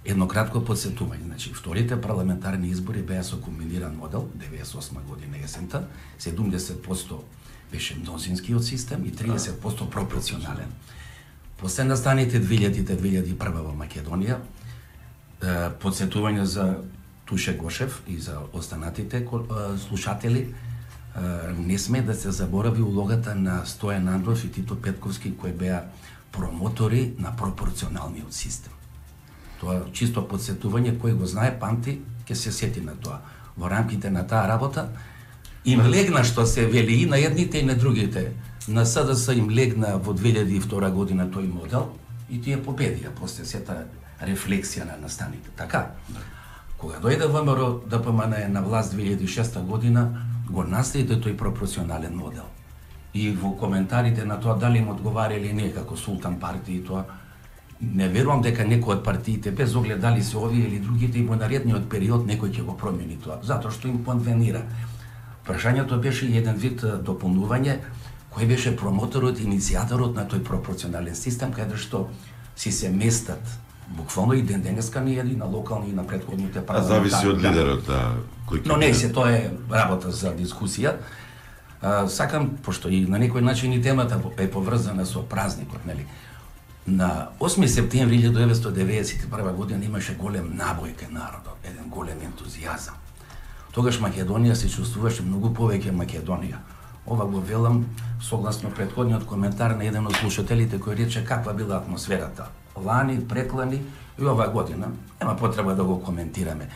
едно кратко подсетување. Значи, вторите парламентарни избори беа со комбиниран модел, 98 година есента, 70% беше мнозинскиот систем и 30% пропорционален. После настаните 2000-2001 во Македонија, подсетување за Туше Гошев и за останатите слушатели, не сме да се заборави улогата на Стојан Андров и Тито Петковски, кои беа промотори на пропорционалниот систем. Тоа чисто подсетување, кој го знае, памти, ќе се сети на тоа. Во рамките на таа работа им легна што се вели и на едните и на другите. На СДС им легна во 2002 година тој модел и тие победија после сета рефлексија на настаните. Така, кога дојде ВМРО ДПМН на власт 2006 година, го наследи тој пропорционален модел. И во коментарите на тоа дали им одговара или не како султан партии, тоа не верувам дека некој од партиите, без оглед дали се овие или другите, и во наредниот период некој ќе го промени тоа, затоа што им конвенира. Прашањето беше еден вид дополнување, кој беше промоторот, иницијаторот на тој пропорционален систем, каде што си се местат буквално и ден денеска не и на локални и на претходните парламентарни. Зависи од лидерот, кој. Но не се, тоа е работа за дискусија. Сакам, пошто и на некој начин и темата е поврзана со празникот, нели? На 8 септември 1991 година имаше голем набој кај народот, еден голем ентузијазам. Тогаш Македонија се чувствуваше многу повеќе Македонија. Ова го велам согласно претходниот коментар на еден од слушателите кој рече каква била атмосферата. Лани, преклани и ова година. Нема потреба да го коментираме.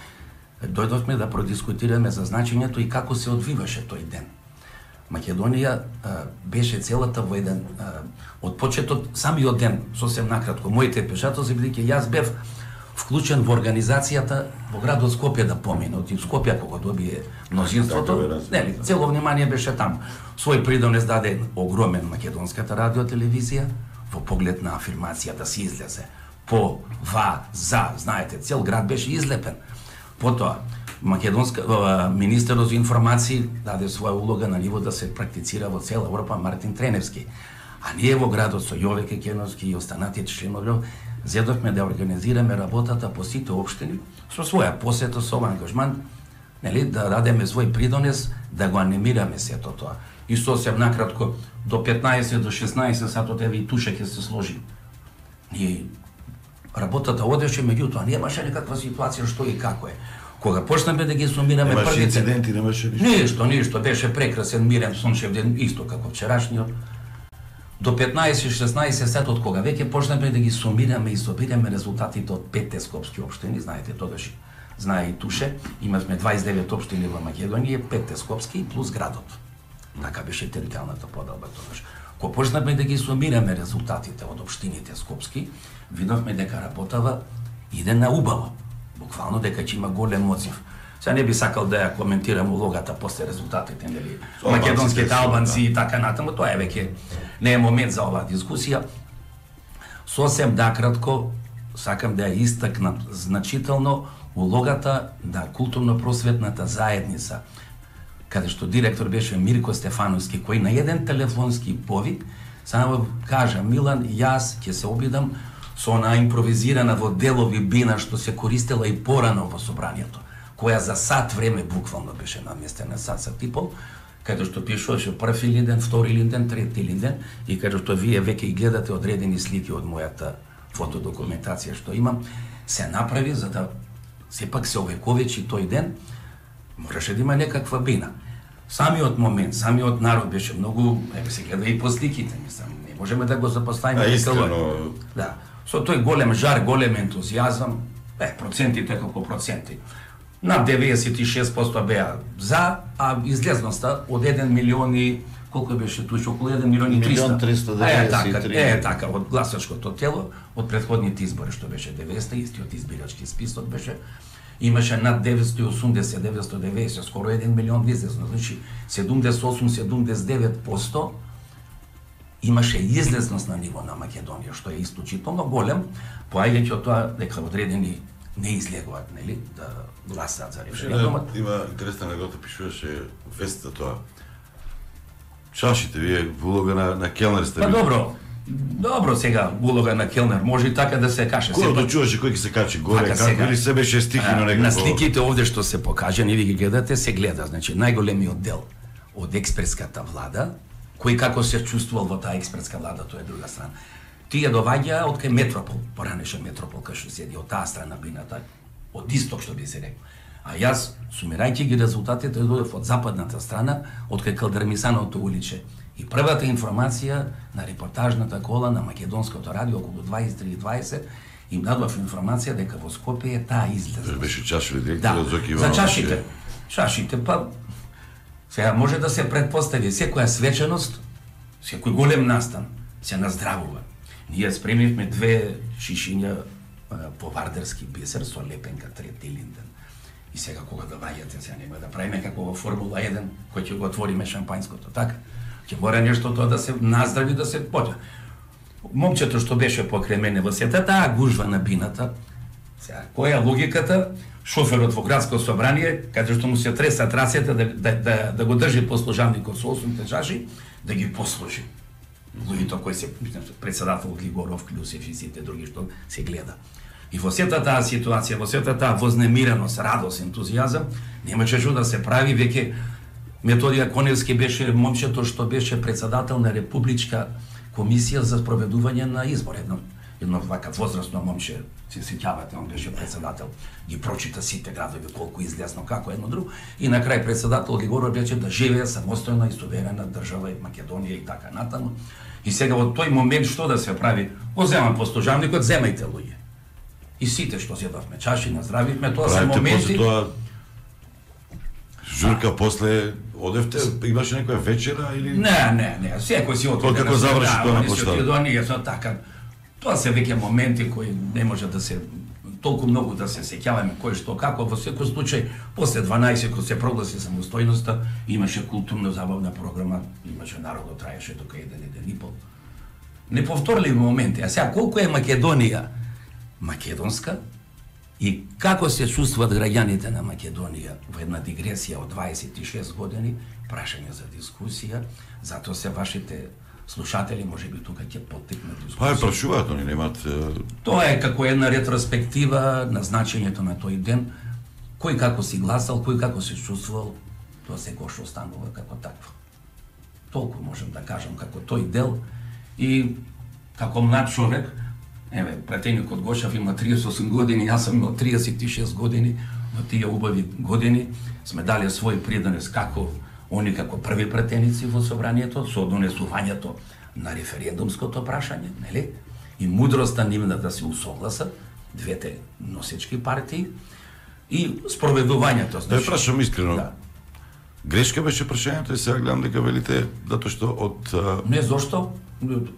Дојдовме да продискутираме за значењето и како се одвиваше тој ден. Македонија беше целата во еден од почетот, самиот ден, сосем накратко, моите пешатоци, бидејќи јас бев вклучен во организацијата во градот Скопје да помине. Од Скопје кога добие мнозинството, нели, цело внимание беше таму. Свој придонес даде огромен македонската радиотелевизија во поглед на афирмација да се излезе по, за, знаете, цел град беше излепен. Потоа, министерот за информации даде своја улога на ниво да се практицира во цела Европа Мартин Треневски. А ние во градот со Јове Кекеновски и останатите членови зедовме да организираме работата по сите општини со своја посета, со ангажман, нели, да дадеме свој придонес, да го анимираме сето тоа. И сосем накратко, до 15 до 16 сатот еве и туше ќе се сложи. Ние работата одеше, меѓутоа немаше никаква ситуација што и како е. Кога почнеме да ги сумираме првите... Немаше инциденти, немаше ништо? Ништо, беше прекрасен, мирен, сончев ден, исто како вчерашниот. До 15-16 сатот, кога веќе почнеме да ги сумираме и собираме резултатите од 5 скопски општини, знаете, тогаш знае и туше, имавме 29 општини во Македонија, 5 скопски плюс градот. Така беше територијалната поделба тогаш. Кога почнеме да ги сумираме резултатите од општините скопски, видовме дека работава иде на убаво. Буквално дека ќе има голем одзив. Сега не би сакал да ја коментирам улогата после резултатите, нели, македонските албанци и така натаму, тоа е веќе не е момент за оваа дискусија. Сосем накратко сакам да ја истакнам значително улогата на културно-просветната заедница, каде што директор беше Мирко Стефановски, кој на еден телефонски повик само кажа: Милан, јас ќе се обидам со она импровизирана во делови бина што се користела и порано во собранието, која за сат време буквално беше наместена, сат и пол, каде што пишуваше први линден, втори линден, трети линден, и каде што вие веќе и гледате одредени слики од мојата фотодокументација што имам, се направи за да сепак се овековечи тој ден, мораше да има некаква бина. Самиот момент, самиот народ беше многу, еве се гледа и по сликите, мислам, не можеме да го запоставиме искрено. Да. Со тој голем жар, голем ентузијазам, процентите како проценти. Над 96% беа за, а излезноста од 1 милион и колку беше туше, околу 1 милион и 300. 1.393. Така, од гласачкото тело, од претходните избори што беше 90, истиот избирачки список беше, имаше над 980, 990, скоро 1 милион излезно, значи 78-79% имаше излезност на ниво на Македонија, што е исклучително голем, поаѓајќи од тоа дека одредени не излегуваат, нели, да гласаат за референдумот. Има интересна анегдота, пишуваше вестата тоа. Чашите, вие улога на келнер сте. Па добро сега улога на келнер, може и така да се каже. Кој одлучуваше кој ќе се качи горе, како сега, или се беше стихино некако? На сликите овде што се покажани, ви ги гледате, се гледа, значи најголемиот дел од експреската влада, кој како се чувствувал во таа експертска влада, тоа е друга страна. Тие доаѓаа од кај Метропол, поранеше Метропол, кај што седи од таа страна бината, од исток што би се рекол. А јас, сумирајќи ги резултатите, дојдов од западната страна, од кај Калдермисановото уличе. И првата информација на репортажната кола на македонското радио околу 23:20 им дадов информација дека во Скопје е таа излезна. Беше чашови директор Зоки Иванов. За чашите, па сега може да се претпостави секоја свеченост, секој голем настан се наздравува. Ние спремивме 2 шишиња повардерски бисер со лепенка трети линден. И сега кога доаѓате, сега нема да правиме како во Формула 1, кој ќе го отвориме шампањското, така? Ќе мора нешто тоа да се наздрави, да се поѓа. Момчето што беше покрај мене во сета, таа гужва на бината. Сега, која е логиката? Шоферот во градско собрание, каде што му се тресат рацете да го држи послужавникот со 8 чаши, да ги послужи. Луѓето кои се председател Глигоров, Клюсев и сите други што се гледа. И во сета таа ситуација, во сета таа вознемиреност, радост, ентузијазам, немаше што да се прави, веќе Методија Коневски беше момчето што беше председател на Републичка комисија за спроведување на избор. Едно вака возрастно момче, се сеќавате, он беше председател, ги прочита сите градови, колку излесно, како едно друго, и на крај председател Григоров беше да живее самостојна и суверена држава и Македонија и така натаму. И сега во тој момент што да се прави? Го земам послужавникот, земајте луѓе. И сите што седавме чаши, наздравивме, тоа се моменти. Журка после одевте, имаше некоја вечера или Не, секој си отиде. Како заврши тоа на площадот? Така. Тоа се веќе моменти кои не може да се толку многу да се сеќаваме кој што како. Во секој случај, после 12 кога се прогласи самостојноста, имаше културно забавна програма, имаше народот, траеше тука еден и пол. Неповторливи моменти. А сега колку е Македонија македонска и како се чувствуваат граѓаните на Македонија во една дигресија од 26 години, прашање за дискусија, затоа се вашите слушатели можеби тука ќе поттикнат дискусија. Па прашуваат, они немаат. Тоа е како една ретроспектива на значењето на тој ден, кој како си гласал, кој како се чувствувал, тоа секој што останува како такво. Толку можам да кажам како тој дел и како млад човек, еве, пратеникот Гошев има 38 години, јас сум имал 36 години, во тие убави години сме дали свој придонес како они како први пратеници во собранието со донесувањето на референдумското прашање, нели? И мудроста нивна да се усогласат двете носечки партии и спроведувањето. Да прашам искрено. Да. Грешка беше прашањето и сега гледам дека велите затоа што од Не, зошто?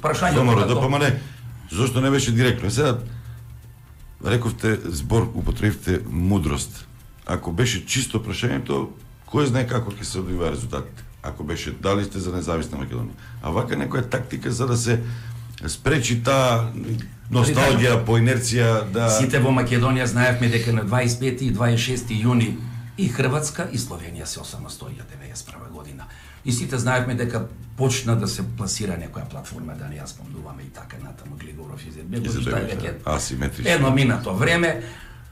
Прашањето да помане. Зошто не беше директно? Сега рековте збор, употребивте мудрост. Ако беше чисто прашањето, кој знае како ќе се одвива резултатите? Ако беше дали сте за независна Македонија. А вака некоја тактика за да се спречи таа носталгија по инерција да Сите во Македонија знаевме дека на 25 и 26 јуни и Хрватска и Словенија се осамостоија 91 година. И сите знаевме дека почна да се пласира некоја платформа, да не ја спомнуваме и така натаму Глигоров Изетбегов, што е веќе асиметрично. Едно минато време,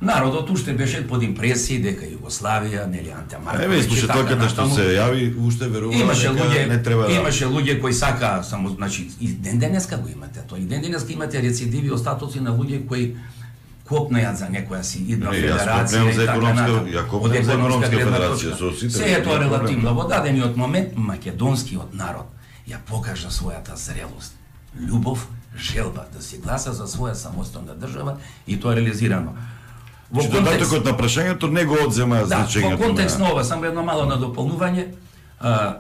народот уште беше под импресии дека Југославија, нели Анте Марковиќ. Еве слушателката што се јави, уште верува дека не треба да. Имаше луѓе кои сака само, значи, и ден денеска го имате тоа. И ден денеска имате рецидиви остатоци на луѓе кои копнеат за некоја си идна федерација и така натаму. Од економска федерација. Се е тоа релативно. Во дадениот момент македонскиот народ ја покажа својата зрелост, љубов, желба да се гласа за своја самостојна држава и тоа е реализирано. Во контекстот на прашањето не го одзема значењето. Да, во контекст на ова, само едно мало надополнување,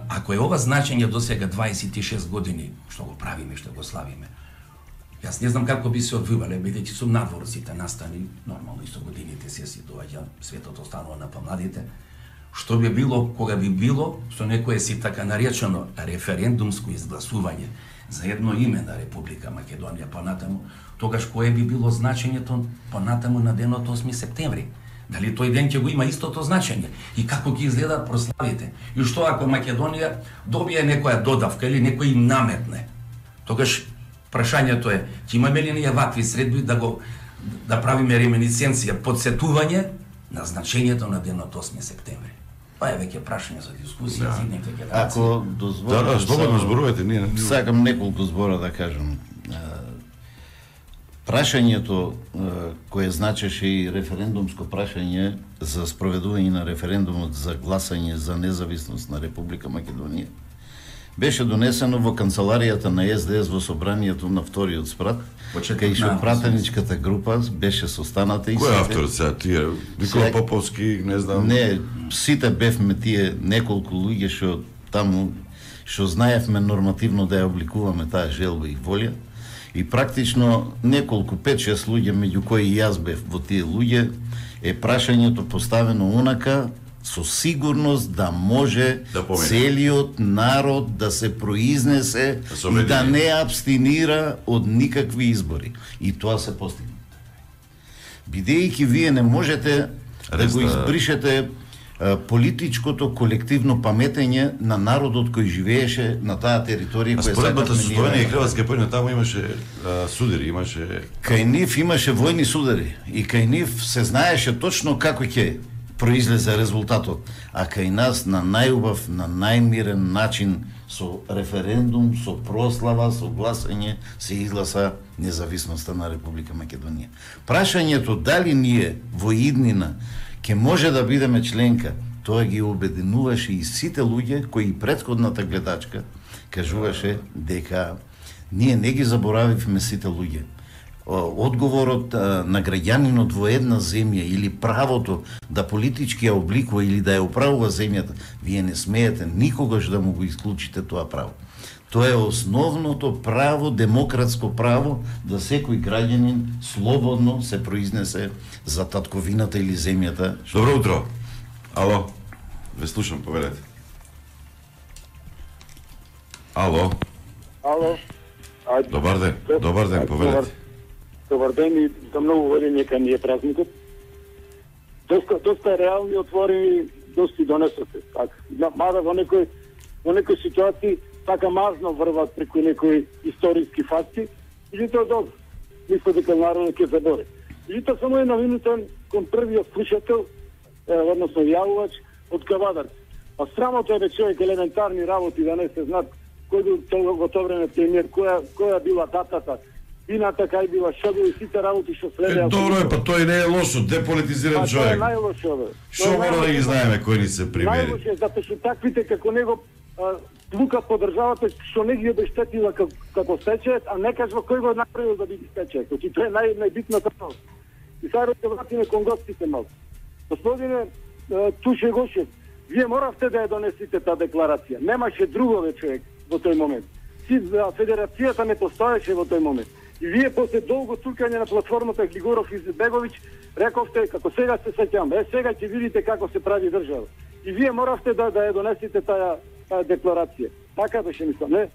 ако е ова значење до сега 26 години, што го правиме, што го славиме, јас не знам како би се одвивале, бидејќи сум надвор сите настани, нормално и со годините се доаѓа, светот останува на помладите. Што би било, кога би било, со некое си така наречено референдумско изгласување за едно име на Република Македонија понатаму, тогаш кое би било значењето понатаму на денот 8 септември? Дали тој ден ќе го има истото значење? И како ќе изгледаат прославите? И што ако Македонија добие некоја додавка или некој им наметне? Тогаш прашањето е, ќе имаме ли ние вакви средби да правиме реминисценција, подсетување на значењето на денот 8 септември? Па е веќе прашање за дискусија, за идните генерации. Ако дозволите, Да, слободно зборувате, ние. Сакам неколку збора да кажам. Прашањето кое значеше и референдумско прашање за спроведување на референдумот за гласање за независност на Република Македонија беше донесено во канцеларијата на СДС во собранието на вториот спрат, кај што пратеничката група беше состаната и Кој е авторот сега? Тие Никола Поповски, не знам. Не, сите бевме тие неколку луѓе што таму што знаевме нормативно да ја обликуваме таа желба и волја. И практично неколку 5-6 луѓе, меѓу кои и јас бев во тие луѓе, е прашањето поставено онака со сигурност да може целиот народ да се произнесе и да не абстинира од никакви избори. И тоа се постигна. Бидејќи вие не можете да го избришете политичкото колективно паметење на народот кој живееше на таа територија која споредбата со Словенија и Хрватска појна таму имаше судари, имаше кај нив имаше војни судари и кај нив се знаеше точно како ќе произлезе резултатот, а кај нас на најубав, на најмирен начин со референдум, со прослава, со гласање се изгласа независноста на Република Македонија. Прашањето дали ние во иднина ќе може да бидеме членка, тоа ги обединуваше и сите луѓе кои претходната гледачка кажуваше дека ние не ги заборавивме сите луѓе. Одговорот на граѓанинот во една земја или правото да политички ја обликува или да ја управува земјата, вие не смеете никогаш да му го исклучите тоа право. Тоа е основното право, демократско право, да секој граѓанин слободно се произнесе за татковината или земјата. Добро утро. Ало. Ве слушам, повелете. Ало. Ало. Добар ден, повелете. Добар ден и за многу години нека ни е празникот. Доста реални, отворени, доста донесоте. Така. Мада во некои ситуации така мазно врват преку некои историски факти, или тоа добро. Мисля дека народот ќе забори. Или тоа само една минута кон првиот слушател, односно јавувач од Кавадарци. А срамота е човек елементарни работи да не се знаат кој бил во тоа време премиер, која била датата, вината кај била, што били сите работи што следеа. Добро е, па тој не е лошо, деполитизиран човек. Тоа е најлошо, бе. Што мора да ги знаеме кои ни се премиери? Најлошо е, затоа што таквите како него тлука по државата што не ги обештетила како стечајот, а не кажува кој го направил да биде стечајот. Значи тоа е најбитната стvar. И сега ќе вратиме кон гостите малку. Господине Туше Гошев, вие моравте да ја донесите таа декларација. Немаше другове човек во тој момент. Федерацијата не постоеше во тој момент. И вие после долго цукање на платформата Глигоров и Беговиќ рековте како сега се сеќам, сега ќе видите како се прави држава. И вие моравте да ја донесите таа декларација. Така беше, мислам, не?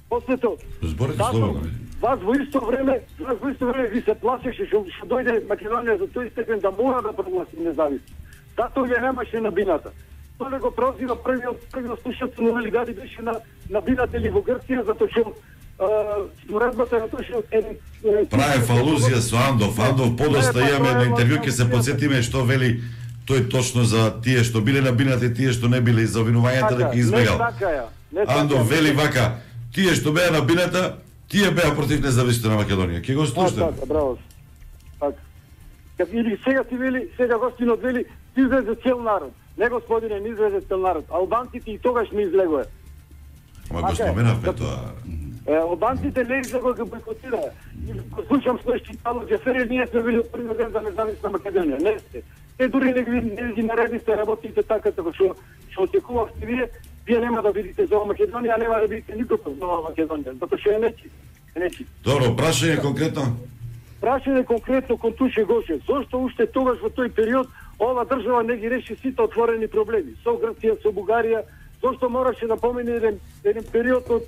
После тоа, зборите слободно. вас во исто време ви се плашеше што дојде Македонија за тој степен да мора да прогласи независност. Тато ја немаше на бината. Тоа го прозива првиот слушател на Велигади беше на бината или во Грција, затоа што споредбата на тоа што Правев алузија со Андов. Андов подоста имаме едно интервју, ќе се подсетиме што вели тој точно за тие што биле на бината и тие што не биле, за обвинувањата дека избегал. Андов вели вака, тие што беа на бината, тие беа против независноста на Македонија. Ќе го слушате? Така, браво. Така. Или сега ти вели, сега гостинот вели, ти излезе цел народ. Не, господине, не излезе цел народ. Албанците и тогаш не излегоа. Ама го споменавме тоа. Албанците не излегоа го бойкотираа. Го слушам следејќи Пало Џефери, ние сме били првиот ден за независна Македонија. Не сте. Те дури не ги наредите работите така што очекувавте вие нема да видите за Македонија, а нема да видите никога за Македонија, затоа што е нечи. Добро, прашање конкретно? Прашање конкретно кон Туше Гошев. Зошто уште тогаш во тој период ова држава не ги реши сите отворени проблеми со Грција, со Бугарија? Зошто мораше да помине еден период од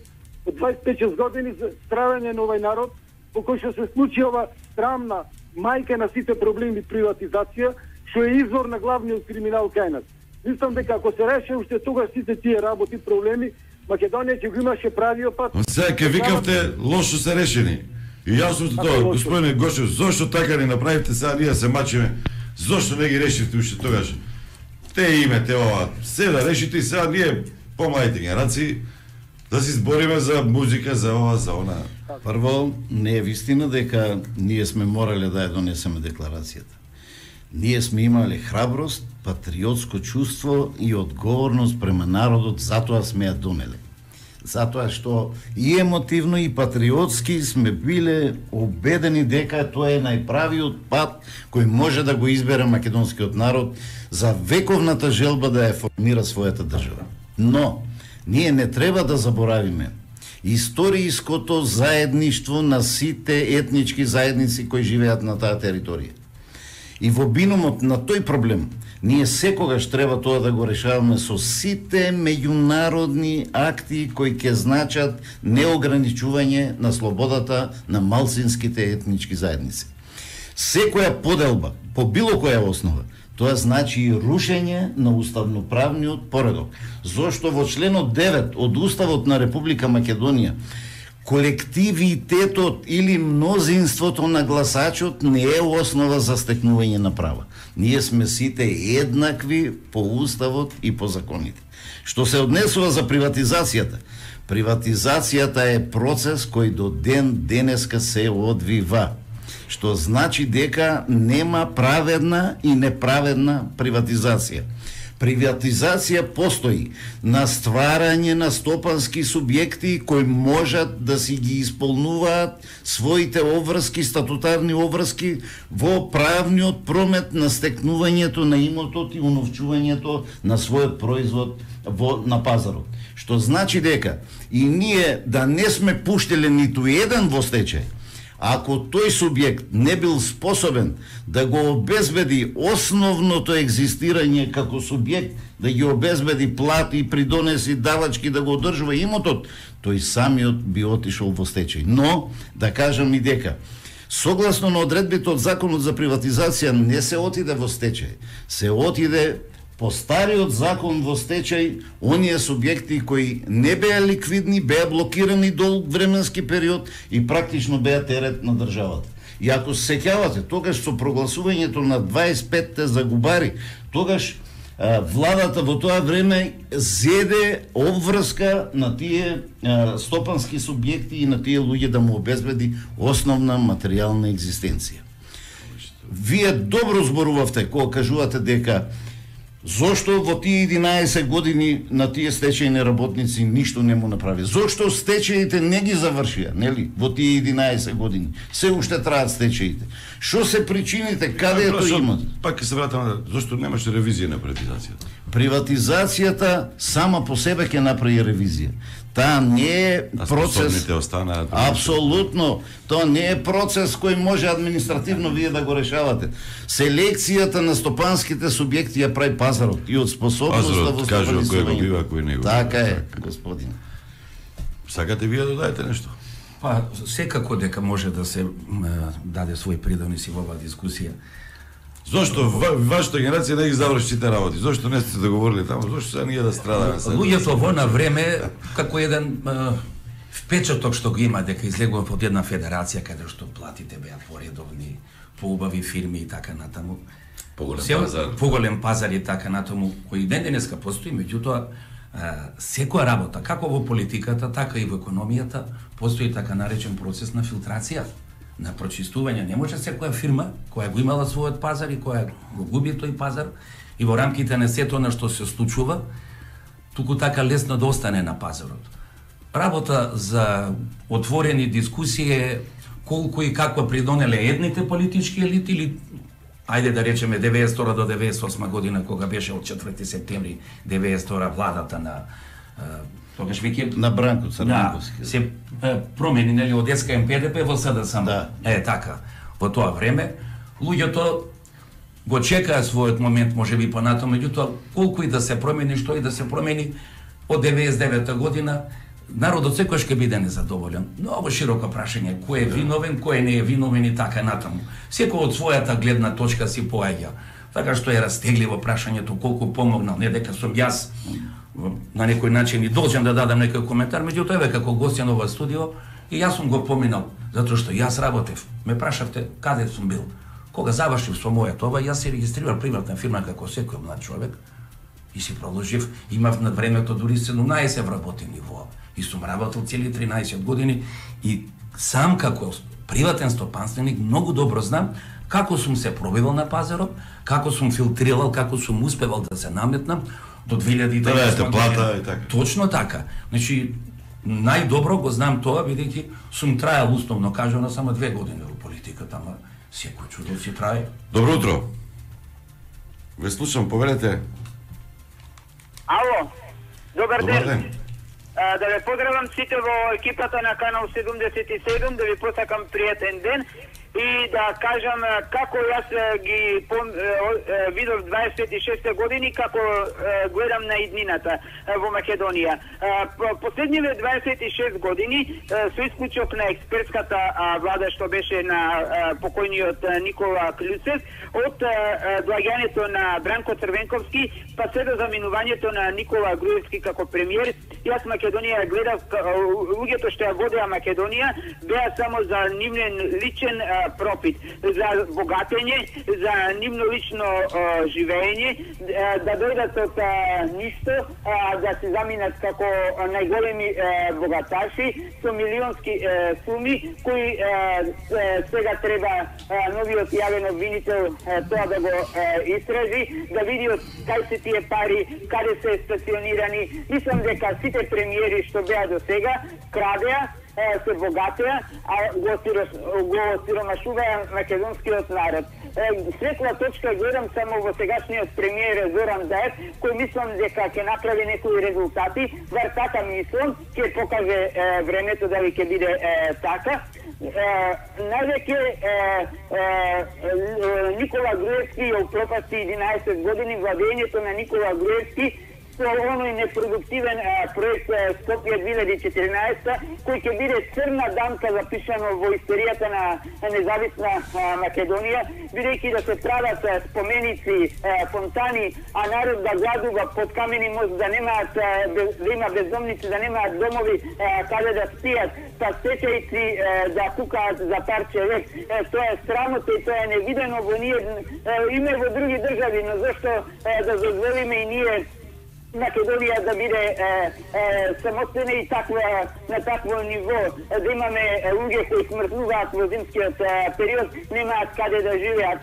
25 години за стравање на овој народ, во кој што се случи ова срамна мајка на сите проблеми приватизација, што е извор на главниот криминал кај нас. Мислам дека ако се реше уште тогаш сите тие работи, проблеми, Македонија ќе го имаше правиот пат. Сега ќе викавте лошо се решени. И јасно тоа, господине Гошев, зошто така ни направивте, сега ние се мачиме, зошто не ги решивте уште тогаш? Те имате ова, се да решите и сега ние, помладите генерации, да се збориме за музика, за ова, за она. Прво, не е вистина дека ние сме морале да ја донесеме декларацијата. Ние сме имале храброст, патриотско чувство и одговорност према народот, затоа сме ја донеле. Затоа што и емотивно и патриотски сме биле убедени дека тоа е најправиот пат кој може да го избере македонскиот народ за вековната желба да ја формира својата држава. Но, ние не треба да заборавиме историјското заедништво на сите етнички заедници кои живеат на таа територија. И во бинумот на тој проблем, ние секогаш треба тоа да го решаваме со сите меѓународни акти кои ќе значат неограничување на слободата на малцинските етнички заедници. Секоја поделба, по било која основа, тоа значи и рушење на уставноправниот поредок. Зошто во членот 9 од Уставот на Република Македонија колективитетот или мнозинството на гласачот не е основа за стекнување на права. Ние сме сите еднакви по Уставот и по законите. Што се однесува за приватизацијата? Приватизацијата е процес кој до денеска се одвива. што значи дека нема праведна и неправедна приватизација. Приватизација постои на стварање на стопански субјекти кои можат да си ги исполнуваат своите обврски, статутарни обврски во правниот промет на стекнувањето на имотот и уновчувањето на својот производ на пазарот. Што значи дека и ние да не сме пуштеле ниту еден во стечај, ако тој субјект не бил способен да го обезбеди основното екзистирање како субјект, да ги обезбеди плати, придонеси, давачки, да го одржува имотот, тој самиот би отишол во стечај. Но, да кажам и дека, согласно на одредбите од Законот за приватизација не се отиде во стечај, се отиде по стариот закон во стечај оние субјекти кои не беа ликвидни, беа блокирани долг временски период и практично беа терет на државата. И ако се сеќавате, тогаш со прогласувањето на 25-те загубари, тогаш владата во тоа време зеде обврска на тие стопански субјекти и на тие луѓе да му обезбеди основна материјална екзистенција. Вие добро зборувавте кога кажувате дека зошто во тие 11 години на тие стечајни работници ништо не му направи? Зошто стечаите не ги завршија, нели? Во тие 11 години. Се уште траат стечаите. Што се причините? Каде е тој имот? Пак ќе се вратам, зошто немаше ревизија на приватизацијата? Приватизацијата сама по себе ќе направи ревизија. Таа не е процес. Апсолутно, тоа не е процес кој може административно вие да го решавате. Селекцијата на стопанските субјекти ја прави пазарот и од способноста во стопанизување. Така е, господин. Сакате вие да дадете нешто? Па, секако дека може да се даде свој придонес и во оваа дискусија. Зошто вашата генерација не ги заврши сите работи? Зошто не сте договорили таму? Зошто сега ние да страдаме? Луѓето во на време како еден впечаток што го има дека излегува од една федерација каде што платите беа поредовни, поубави фирми и така натаму. Поголем пазар и така натаму, кој ден денеска постои, меѓутоа секоја работа, како во политиката, така и во економијата, постои така наречен процес на филтрација, на прочистување. Не може секоја фирма која го имала својот пазар и која го губи тој пазар и во рамките на сето на што се случува, туку така лесно да остане на пазарот. Работа за отворени дискусии е колку и каква придонеле едните политички елити или ајде да речеме 92 до 98 година кога беше од 4 септември 92 владата на тогаш веќе на Бранко Црненковски. Да, се промени нели од СКМ-ПДП во СДСМ. Да. Така. Во тоа време луѓето го чекаа својот момент, можеби понатаму, меѓутоа колку и да се промени, што и да се промени од 99 година, народот секогаш ќе биде незадоволен. Многу широко прашање, кој е виновен, кој не е виновен и така натаму. Секој од својата гледна точка си поаѓа. Така што е растегливо прашањето колку помогнал, не дека сум јас на некој начин и должен да дадам некој коментар, меѓутоа еве како гостин ова студио и јас сум го поминал, затоа што јас работев. Ме прашавте каде сум бил. Кога завршив со мојот ова, јас се регистрирав приватна фирма како секој млад човек и си продолжив, имав на времето дури 17 вработени во и сум работел цели 13 години и сам како приватен стопанственик многу добро знам како сум се пробивал на пазарот, како сум филтрирал, како сум успевал да се наметнам до 2009 плата и така. Точно така. Значи најдобро го знам тоа бидејќи сум трајал условно кажано само 2 години во политиката, ама секој чудо си трае. Добро утро. Ве слушам, повелете. Ало, добар ден. Да ве поздравам сите во екипата на Канал 77, да ви посакам пријатен ден и да кажам како јас ги видов 26 години, како гледам на иднината во Македонија. Последниве 26 години, со исклучок на експертската влада што беше на покојниот Никола Клюцев, од доаѓањето на Бранко Црвенковски, па се до заминувањето на Никола Груевски како премиер, јас Македонија гледав, луѓето што ја водеа Македонија, беа само за нивен личен профит, за богатење, за нивно лично живење, да дојдат од ништо, да се заминат како најголеми богаташи со милионски суми, кои сега треба новиот јавен обвинител тоа да го истражи, да види од кај се тие пари, каде се стационирани. Мислам дека сите премиери што беа до сега крадеа, се богатеа, а го сиромашуваа македонскиот народ. Светла точка гледам само во сегашниот премиер Зоран Заев, кој мислам дека ќе направи некои резултати, вар така мислам, ќе покаже времето дали ќе биде така. Највеќе Никола Груевски ја упропасти 11 години владењето на Никола Груевски со оној непродуктивен проект Скопје 2014, кој ќе биде црна дамка запишано во историјата на независна Македонија, бидејќи да се прават споменици, фонтани, а народ да гладува под камени мост, да немаат, да има бездомници, да немаат домови каде да спијат, па стечајци да кукаат за парче лек. Тоа е срамота и тоа е невидено во ние, име во други држави, но зашто да дозволиме и ние Македонија да биде самостојна и на такво ниво, да имаме луѓе кои смртнуваат во зимскиот период, немаат каде да живеат,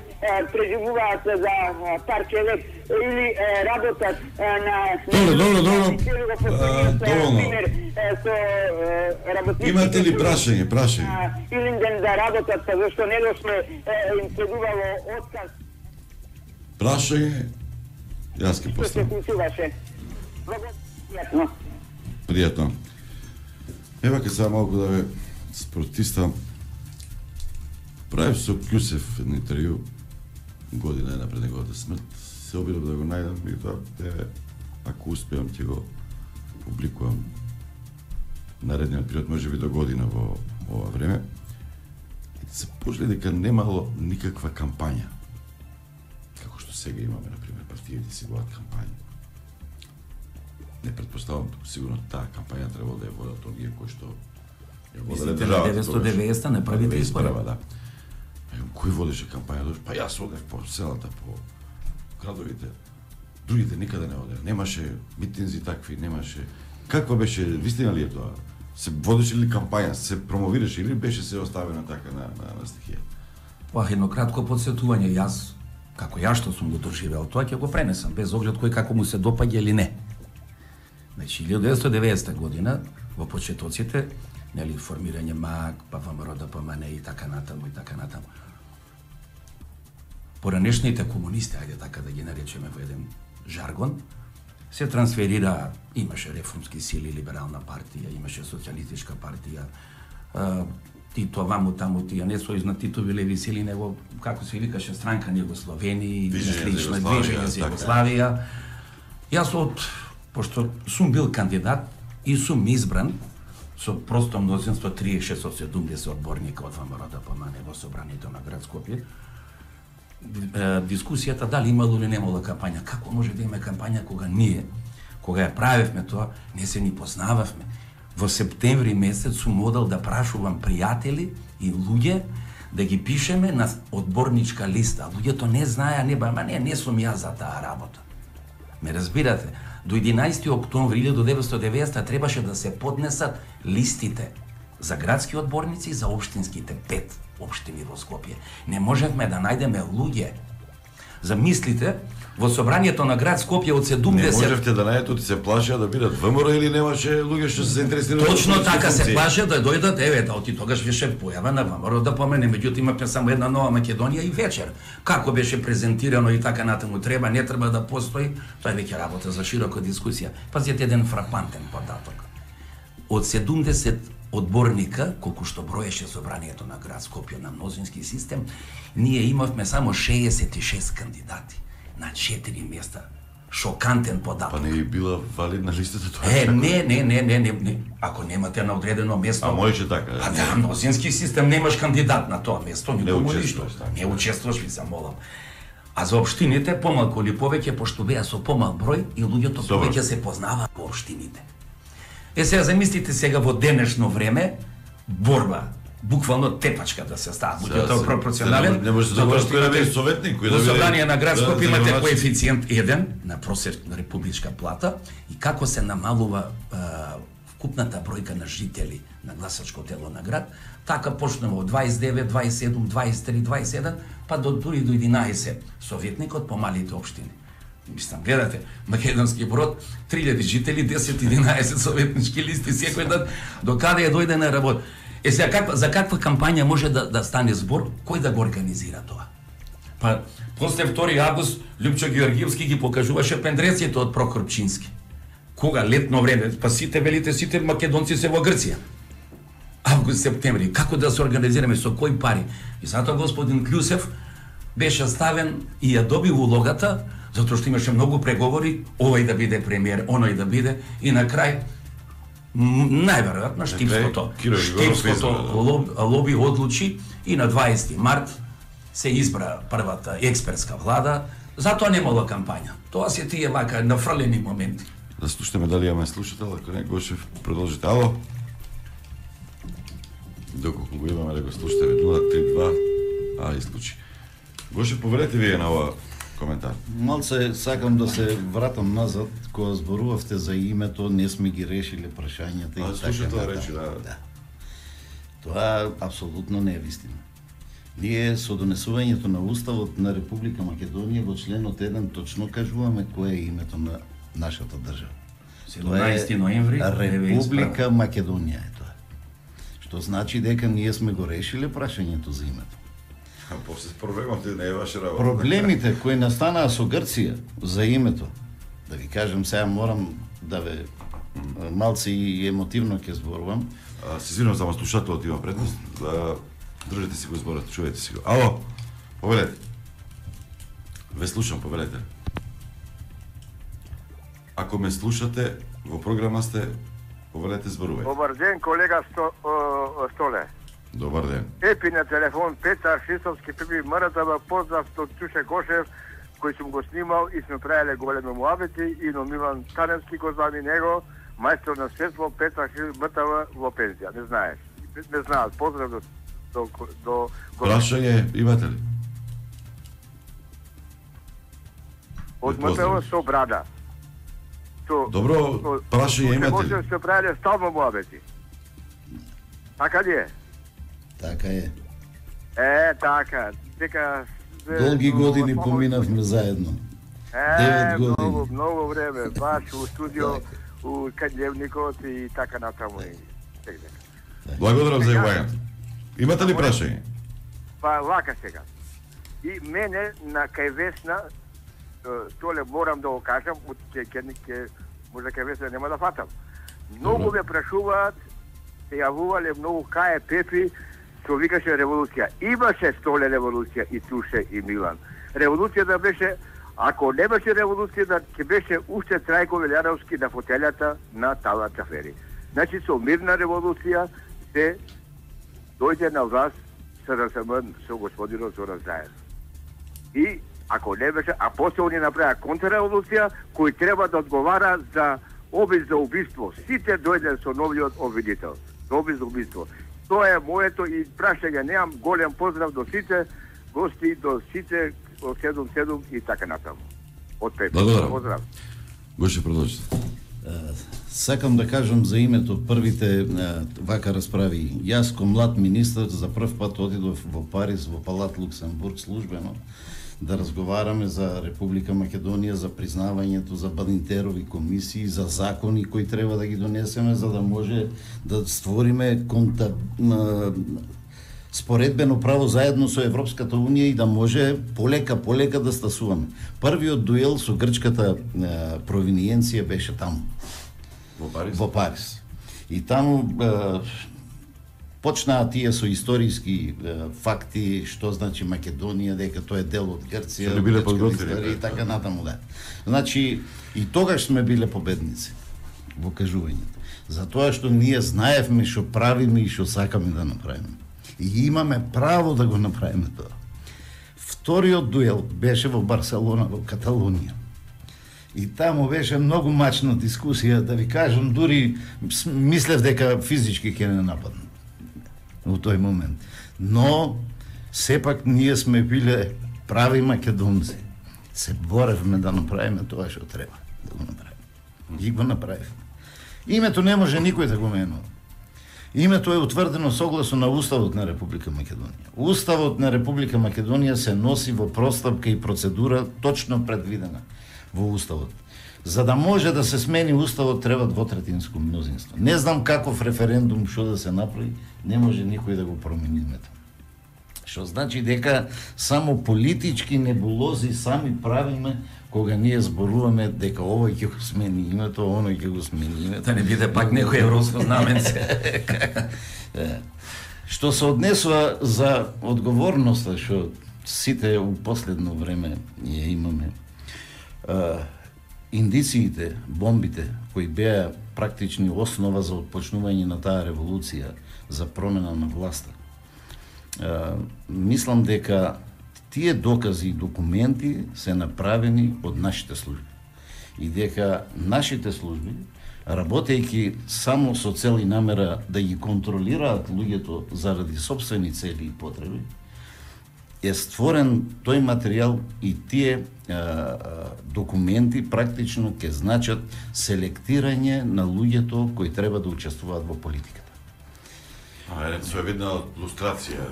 преживуваат за парче лек или работат на... Добро. Имате ли прашање? Илинден да работат, зашто не дошле им следувало отказ. Прашање? Јас ке поставам. Што се случуваше? Пријатно. Ева ке сега малку да ве спортиста. Правив со Кјусев едно интервју година една пред неговата смрт. Се обидов да го најдам и тоа ако успеам ќе го публикувам наредниот период, може би до година во ова време. Се почели дека немало никаква кампања. Како што сега имаме, например, партиите си водат кампања. Не предпоставам, сигурно таа кампања требало да ја водат оние кои што ја водат државата. 1990 не првите избори. Да. Кој водеше кампања? Па јас одев по селата, по градовите. Другите никаде не одев. Немаше митинзи такви, немаше. Каква беше, вистина ли е тоа? Се водеше ли кампања, се промовираше или беше се оставено така на стихија? Па едно кратко подсетување, јас како ја што сум го доживеал тоа, ќе го пренесам без оглед кој како му се допаѓа или не. Значи, 1990 година, во почетоците, нели, формирање МАК, па ВМРО ДПМН и така натаму, Поранешните комунисти, ајде така да ги наречеме во еден жаргон, се трансферира, имаше реформски сили, либерална партија, имаше социјалистичка партија, Тито, ваму, таму, тие не сојузна Титови леви сили, него, како се викаше, странка на Југословени, слично, Движење за Југославија. Јас пошто сум бил кандидат и сум избран со просто мнозинство 36 од 70 одборника од ВМРО ДПМН во собранието на град Скопје. Дискусијата дали имало или немало кампања, како може да има кампања кога ние, кога ја правевме тоа, не се ни познававме. Во септември месец сум одел да прашувам пријатели и луѓе да ги пишеме на одборничка листа. Луѓето не знаеа, не сум јас за таа работа. Ме разбирате? До 11 октомври 1990 требаше да се поднесат листите за градски одборници и за општинските 5 општини во Скопје. Не можевме да најдеме луѓе. Замислите, во собранието на град Скопје од 70... Не можевте да најдете, се плашеа да бидат ВМРО или немаше луѓе што се заинтересирани? Точно така, се плашеа да дојдат, оти тогаш беше појава на ВМРО да помене, меѓутоа имавме само една нова Македонија и вечер. Како беше презентирано и така натаму, треба, не треба да постои, тоа е веќе работа за широка дискусија. Пазите еден фрапантен податок. Од 70 одборника, колку што броеше собранието на град Скопје на мнозински систем, ние имавме само 66 кандидати на 4 места. Шокантен податок. Па не била валидна листата тоа? Не. Ако немате на одредено место... А можеше така? Па да, мнозински систем немаш кандидат на тоа место, никому ништо. Не учествуваш, ви се молам. А за општините, помалку или повеќе, пошто беа со помал број и луѓето повеќе се познаваат во општините. Сега замислите сега во денешно време борба буквално тепачка да се става. Буџетот пропорционален. Не може да биде советник, кој да биде. Во собрание на град Скопје имате значи- коефициент 1 на просечна републичка плата и како се намалува вкупната бројка на жители на гласачко тело на град, така почнува од 29, 27, 23, 27, па дури до 11 советникот по малите општини. Мислам, гледате, Македонски Брод, 3000 жители, 10-11 советнички листи секој ден, до каде ја дојде на работа. Сега, за каква кампања може да стане збор, кој да го организира тоа? Па, после 2 август, Лјупчо Георгиевски ги покажуваше пендреците од Прокор Пчински. Кога? Летно време, па сите велите, сите македонци се во Грција. Август, септември, како да се организираме, со кои пари? И затоа господин Клюсев беше ставен и ја доби улогата, затоа што имаше многу преговори, овој да биде премиер, оној да биде, и на крај, најверојатно, штипското лоби одлучи и на 20 март се избра првата експертска влада, затоа немало кампања. Тоа се тие вака нафрлени моменти. Да слушаме дали имаме слушател, ако не, Гошев, продолжите. Ало? Доколку го имаме да го слушате, 032, исклучи. Гошев, повелете вие на ова коментар. Малце сакам да се вратам назад, кога зборувавте за името, не сме ги решили прашањата и така. Слушател речи, да. Тоа апсолутно не е вистина. Ние со донесувањето на Уставот на Република Македонија во членот 1 точно кажуваме кое е името на нашата држава. 17 ноември Република Македонија е тоа. Што значи дека ние сме го решиле прашањето за името. А после проблемот не е ваша работа. Проблемите кои настанаа со Грција за името, да ви кажам, сега морам да ве малце и емотивно ќе зборувам. Се извинувам, само слушателот има предност. Држете си го зборот, чуете си го. Ало, повелете. Ве слушам, повелете. Ако ме слушате, во програма сте, повелете, зборувајте. Добар ден, колега Столе. Добар ден. Епи на телефон Петар Шисовски, Пепи Мртава, поздрав од Чуше Гошев, кој сум го снимал и сме правиле големи муабети, и но Милан Таневски го знам и него, мајстор на светство, Петар Мртава во пензија, не знаеш. Не знаат, поздрав до Прашање имате ли? Од Мртава со брада. Добро, прашање имате ли? Може се правиле стално муабети. Така ли е? Така е. Така. Дека долги години поминавме заедно. 9 години. Многу време, баш у студио, у Каѓевникот и така натаму. Благодарам за јавањето. Имате ли прашање? Па вака сега. И мене на кај Весна, Толе морам да го кажам, може кај Весна нема да фатам. Многу ме прашуваат, се јавувале многу кај Пепи, што викаше револуција. Имаше Столе револуција и Туше и Милан. Револуцијата беше, ако не беше револуцијата, ќе беше уште Трајко Велјаровски на фотелјата на Тала Чафери. Значи, со мирна револуција се дојде на власт СРСМ со господинот Зоран Заев. И ако не беше, а после они направија контрреволуција, кој треба да одговара за обид за убиство. Сите дојде со новиот обвинител. Обид за убиство. Тоа е моето и прашање. Немам голем поздрав до сите гости, до сите од 77 и така натаму. Од Пепи. Поздрав. Гоше продолжите. Сакам да кажам за името првите вака расправи. Јас ко млад министр за прв пат одидов во Париз, во Палат Луксембург службено, да разговараме за Република Македонија, за признавањето, за Бадинтерови комисии, за закони кои треба да ги донесеме, за да може да створиме споредбено право заедно со Европската Унија и да може полека да стасуваме. Првиот дуел со грчката провиниенција беше таму. Во Париз. И таму почнаа тие со историски факти, што значи Македонија, дека тоа е дел од Грција, и така натаму, да. Значи, и тогаш сме биле победници во кажувањето. Затоа што ние знаевме што правиме и што сакаме да направиме. И имаме право да го направиме тоа. Вториот дуел беше во Барселона, во Каталонија. И таму беше многу мачна дискусија, да ви кажам, дури мислев дека физички ќе не нападнат. во тој момент. Но сепак ние сме биле прави македонци. Се боревме да направиме тоа што треба да го направиме. И го направивме. Името не може никој да го менува. Името е утврдено согласно на Уставот на Република Македонија. Уставот на Република Македонија се носи во простапка и процедура точно предвидена во Уставот. За да може да се смени Уставот треба двотретинско мнозинство. Не знам каков референдум што да се направи, не може никој да го промени името. Што значи дека само политички небулози сами правиме кога ние зборуваме дека овој ќе го смени името, оној ќе го смени името. Да не биде пак некој европско знаменце. Што се однесува за одговорноста што сите у последно време ја имаме, индициите, бомбите кои беа практични основа за отпочнување на таа револуција за промена на власта, мислам дека тие докази и документи се направени од нашите служби и дека нашите служби, работејќи само со цел и намера да ги контролираат луѓето заради сопствени цели и потреби, е створен тој материјал и тие документи практично ќе значат селектирање на луѓето кои треба да учествуваат во политиката. Со видна лустрација,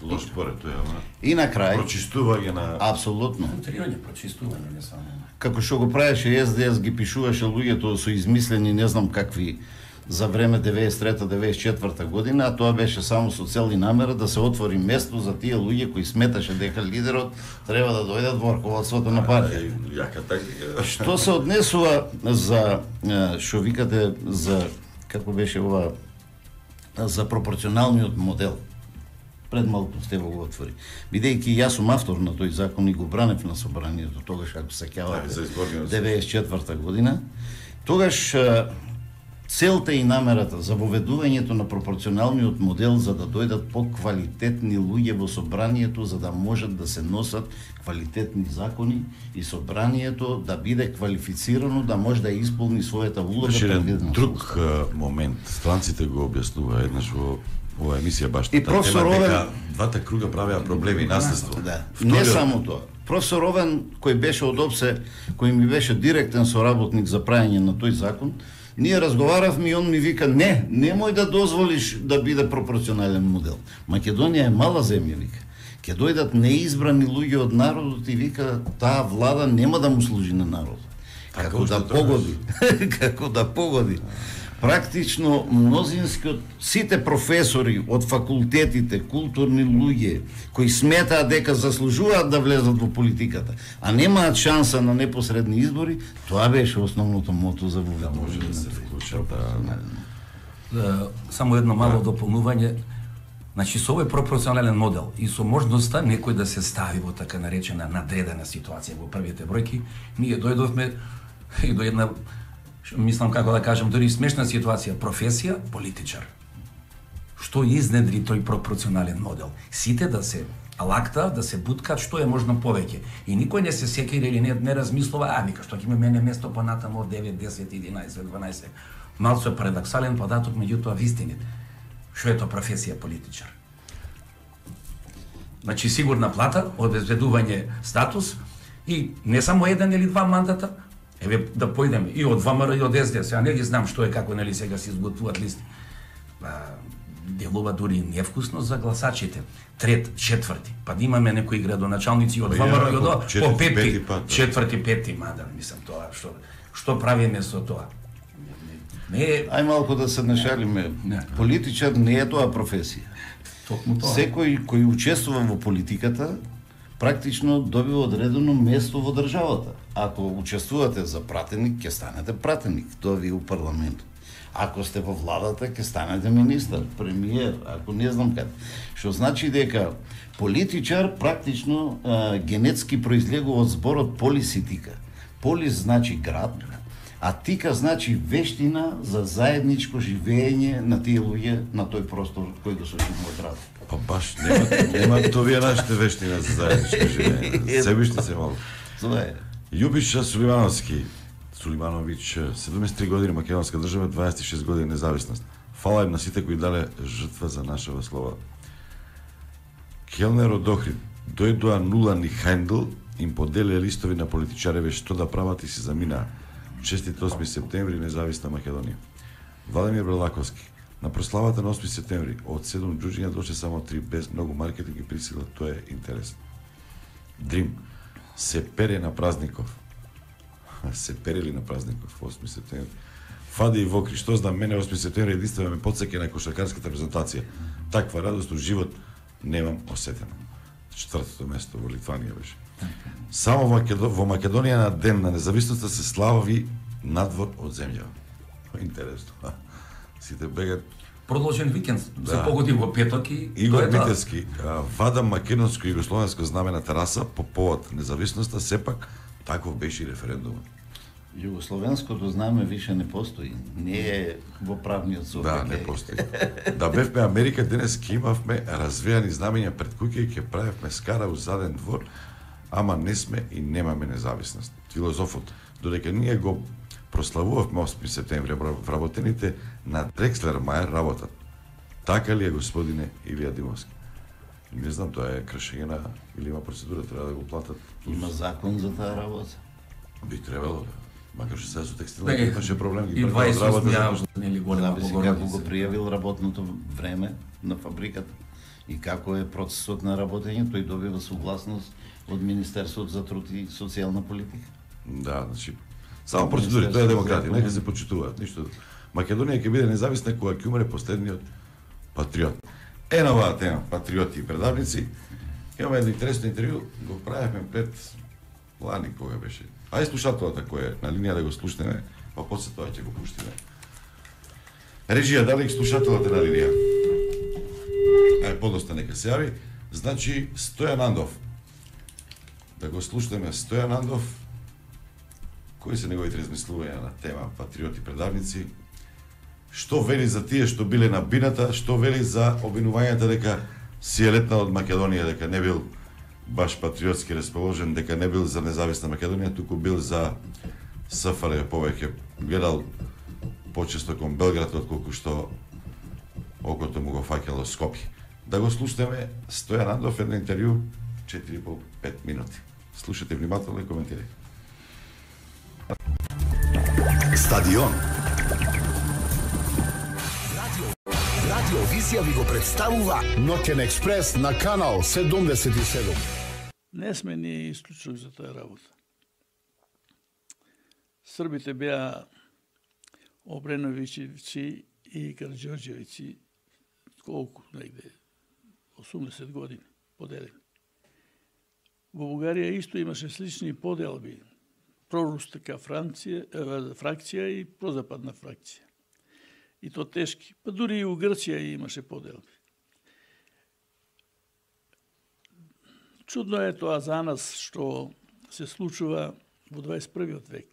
лош поред тоа, и на крај прочистување на апсолутно прочистување не само. Како што го правеше СДС, ги пишуваше луѓето со измислени не знам какви за време 93-94 година, а тоа беше само со цел и намера да се отвори место за тие луѓе кои сметаше дека лидерот треба да дојдат во раководството на партија. Што се однесува за што викате за како беше ова за пропорционалниот модел. Пред малку сте го отвори. Бидејќи јас сум автор на тој закон и го бранев на собранието тогаш, ако се сеќавате, 94 година, тогаш целта и намерата за воведувањето на пропорционалниот модел за да дојдат поквалитетни луѓе во собранието, за да можат да се носат квалитетни закони и собранието да биде квалифицирано, да може да исполни својата улога предвидена. Друг момент, странците го објаснува еднаш во ова емисија баш и професор Овен, двата круга правеа проблеми и наследство. Да. Не само тоа. Професор Овен, кој беше од ОПСЕ, кој ми беше директен соработник за правење на тој закон, ние разговаравме и он ми вика, не, немој да дозволиш да биде пропорционален модел. Македонија е мала земја, вика. Ќе дојдат неизбрани луѓе од народот и вика, таа влада нема да му служи на народот. Како да погоди. Како да погоди. Практично мнозинскиот, сите професори од факултетите, културни луѓе, кои сметаат дека заслужуваат да влезат во политиката, а немаат шанса на непосредни избори, тоа беше основното мото за воведување да се вклучат. Само едно мало дополнување. Значи, со овој пропорционален модел и со можноста некој да се стави во така наречена надредена ситуација во првите бројки, ние дојдовме и до една, мислам како да кажам, дори смешна ситуација, професија политичар. Што изнедри тој пропорционален модел? Сите да се лакта, да се буткат што е можно повеќе. И никој не се сеќа или не размислува, вика, што ќе ме мене место понатамо од 9, 10, 11, 12. Малку е парадоксален податок, меѓутоа вистините. Што е тоа професија политичар? Значи, сигурна плата, обезбедување статус и не само еден или два мандата, еве да појдеме и од ВМРО и од СДС, ја не ги знам што е, како нели сега се изготвуваат листи. Делува дури невкусно за гласачите. Трет, четврти, па да имаме некои градоначалници од ВМРО и од по пети, четврти, пети мандат, мислам тоа, што правиме со тоа? Ај малку да се нашалиме. Политичар не е тоа професија. Секој кој учествува во политиката практично добива одредено место во државата. Ако учествувате за пратеник, ќе станете пратеник, тоа ви у парламентот. Ако сте во владата, ќе станете министар, премиер, ако не знам каде. Што значи дека политичар практично генетски произлегува од зборот полиситика. Полис значи град, а тика значи вештина за заедничко живење на тие луѓе на тој простор кој го сочинува град. Па баш нема тоа нашите вештина за заедничко живење. Себиште се малку. Тоа е. Љубиша Сулимановски, 73 години македонска држава, 26 години независност. Фала им на сите кои дале жртва за нашава слова. Келнер од Охрид дојдоа нула ни хендл, им поделија листови на политичареве што да прават и се заминаа. Честит 8 септември, независна Македонија. Владимир Брелаковски. На прославата на 8 септември од 7 џуџиња доше само 3 без многу маркетинг и присила, тоа е интересно. Дрим. Се пере на празников. Се перели на празников 8 септември. Фади и Вокри, што знам, мене 8 септември единствено ме подсеќа на кошаркарската презентација. Таква радост у живот немам осетено. 4-то место во Литванија беше. Само во Македонија на ден на независноста се слави надвор од земја. Интересно. Сите бегат. Продолжен викенд, се погоди во петок и Игор Митевски вада македонско и југословенско знаме на тераса по повод независноста, сепак таков беше и референдумот. Југословенското знаме више не постои. Не е во правниот СОПК. Да, не постои. Да бевме Америка, денес ке имавме развејани знамења пред куќа и ке правевме скара у заден двор, ама не сме и немаме независност. Филозофот, додека ние го прославувавме 8 септември, вработените на Дрекслер Мајер работат. Така ли е, господине Илија Димовски? Не знам, тоа е кршење на или има процедура, треба да го платат. Има закон за таа работа. Би требало да. Макар што сега со текстилна имаше проблем и 28 јавно нели голема погорница. Како го пријавил работното време на фабриката и како е процесот на работење, тој добива согласност од Министерството за труд и социјална политика. Да, значи само процедури, тоа е демократија, нека се почитуваат, ништо. Македонија ќе биде независна кога ќе умре последниот патриот. Е на оваа тема, патриоти и предавници, имаме едно интересно интервју, го правевме пред лани кога беше. Ајде слушателата кој е на линија да го слушнеме, па после тоа ќе го пуштиме. Режија, дали слушателата на линија? Ајде, подоста нека се јави. Значи, Стојан Андов. Да го слушнеме Стојан Андов. Кои се неговите размислувања на тема патриоти предавници? Што вели за тие што биле на бината, што вели за обвинувањата дека си е летнал од Македонија, дека не бил баш патриотски расположен, дека не бил за независна Македонија, туку бил за СФР, повеќе гледал почесто кон Белград, отколку што окото му го фаќало Скопје. Да го слушнеме Стојан Андов, едно интервју, 4,5 минути. Слушате внимателно и коментирајте. Стадион. Радио Визија ви го представува Ноќен експрес на канал 77. Не сме ние исклучок за таа работа. Србите беа Обреновичевци и Караџорџевици колку негде 80 години поделени. Во Бугарија исто имаше слични поделби. Проруска фракција и прозападна фракција. И то тешки. Па дури и у Грција имаше поделби. Чудно е тоа за нас што се случува во 21. век.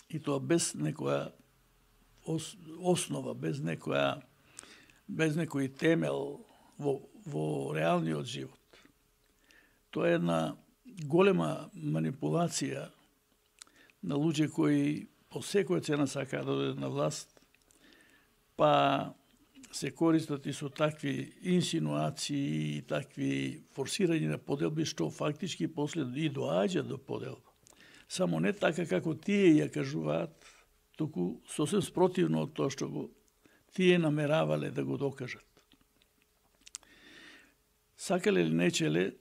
И тоа без некоја основа, без некој темел во реалниот живот. Тоа е една голема манипулација на луѓе кои по секоја цена сакаат да дојдат на власт, па се користат и со такви инсинуации и такви форсирање на поделби, што фактички после и доаѓа до поделба. Само не така како тие ја кажуваат, туку сосем спротивно од тоа што го тие намеравале да го докажат. Сакале или нечеле,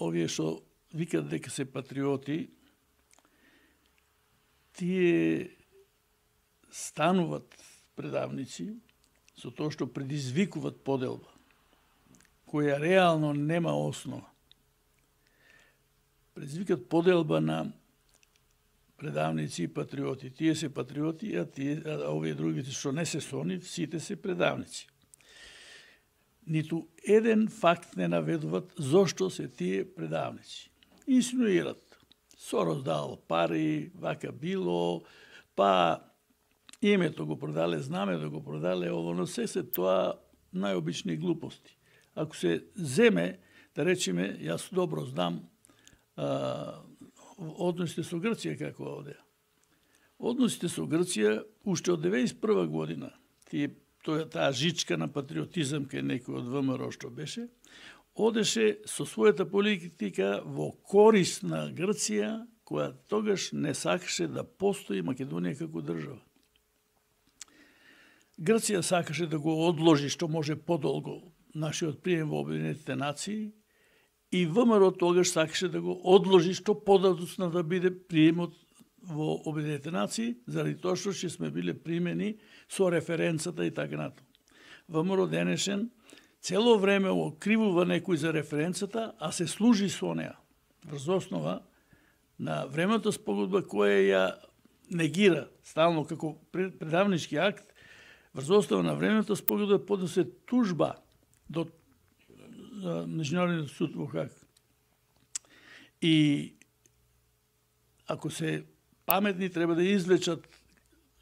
овие што викат дека се патриоти, тие стануват предавници со тоа што предизвикуваат поделба, која реално нема основа. Предизвикат поделба на предавници и патриоти. Тие се патриоти, а овие другите што не се со нив, сите се предавници. Ниту еден факт не наведуваат зошто се тие предавници. Инсинуират. Сорос дал пари, вака било, па името го продале, знамето го продале, оно се тоа најобични глупости. Ако се земе, да речеме, јас добро знам односите со Грција како овде. Односите со Грција уште од 91 година таа жичка на патриотизам кај некој од ВМРО што беше, одеше со својата политика во корис на Грција, која тогаш не сакаше да постои Македонија како држава. Грција сакаше да го одложи што може подолго нашиот прием во Обединетите нации и ВМРО тогаш сакаше да го одложи што подоцна да биде приемот во Обединетите нации, заради тоа што ќе сме биле примени со референцата и така натаму. ВМРО денешен цело време окривува некој за референцата, а се служи со неа врз основа на времената спогодба која ја негира стално како предавнички акт. Врз основа на времената спогодба поднесе тужба до Меѓународниот суд во Хаг. И ако се паметни, треба да извлечат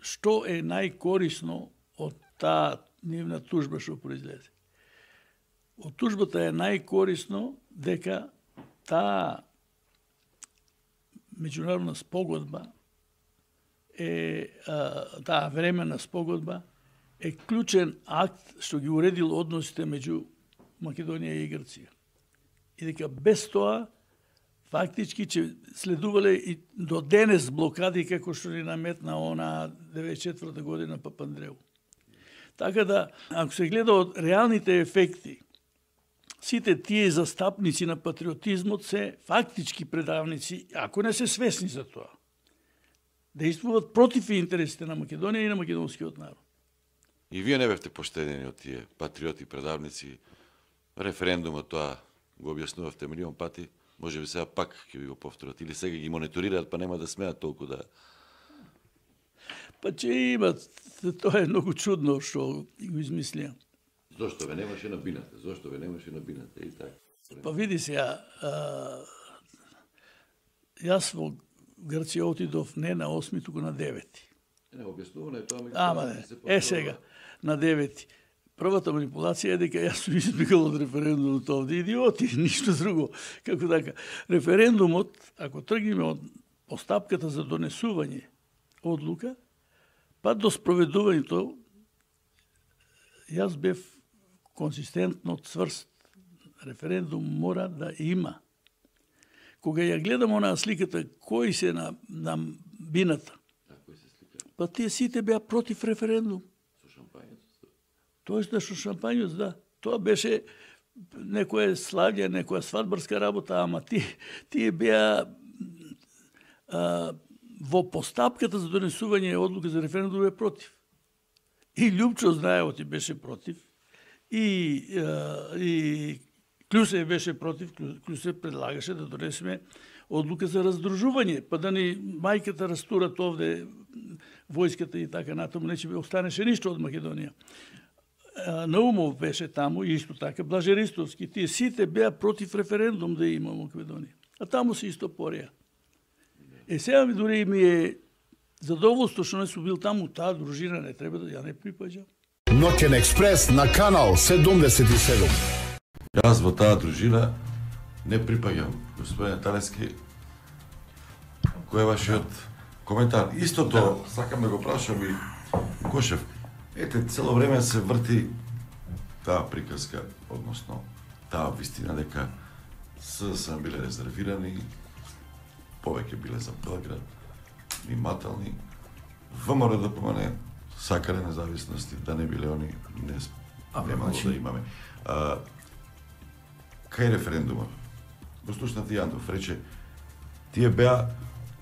што е најкорисно од таа нивна тужба што произлезе. Од тужбата е најкорисно дека таа меѓународна спогодба таа времена спогодба е клучен акт што ги уредил односите меѓу Македонија и Грција. И дека без тоа фактички че следувале и до денес блокади како што ни наметна она 94 година Папандреу. Така да, ако се гледа од реалните ефекти, сите тие застапници на патриотизмот се фактички предавници, ако не се свесни за тоа. Действуваат против интересите на Македонија и на македонскиот народ. И вие не бевте поштедени од тие патриоти, предавници. Референдумот тоа го објаснувавте милион пати. Може би сега пак ќе ви го повторат. Или сега ги мониторираат, па нема да смеат толку да... Па че имат, тоа е многу чудно што го измислија. Зошто ве немаше на бината? Зошто ве немаше на бината? И така. Па види сега, јас во Грција отидов не на 8, туку на 9. Не, објаснувано е тоа. Ама не, сега, на 9. Првата манипулација е дека јас сум избегал од референдумот овде. Идиоти, ништо друго. Како така? Референдумот, ако тргнеме од постапката за донесување одлука, па до спроведувањето, јас бев консистентно цврст. Референдум мора да има. Кога ја гледам онаа сликата, кои се на бината, па тие сите беа против референдум. Тоест да со шампањот, да. Тоа беше некоја славје, некоја свадбарска работа, ама тие беа во постапката за донесување одлука за референдум беа против. И Љупчо Знаевоти беше против, и Клюсе беше против, Клюсе предлагаше да донесеме одлука за раздружување, па да ни мајката растурат овде војската и така натаму, не ќе останеше ништо од Македонија. Наумов беше таму, и исто така, Блаже Ристовски, тие сите беа против референдум да има Македонија. А таму се исто пореа. Сега ми дури ми е задоволство што не сум бил таму, таа дружина не треба да ја не припаѓа. Ноќен експрес на канал 77. Јас во таа дружина не припаѓам. Господине Талески, кој е вашиот коментар? Истото, сакам да го прашам и Кошев. Ете, цело време се врти таа приказка, односно таа вистина дека СДСМ биле резервирани, повеќе биле за Белград, внимателни, ВМРО да помане, сакале независности, да не биле они, немало да имаме. Кај референдумот? Го слушнати Јандов, рече, тие беа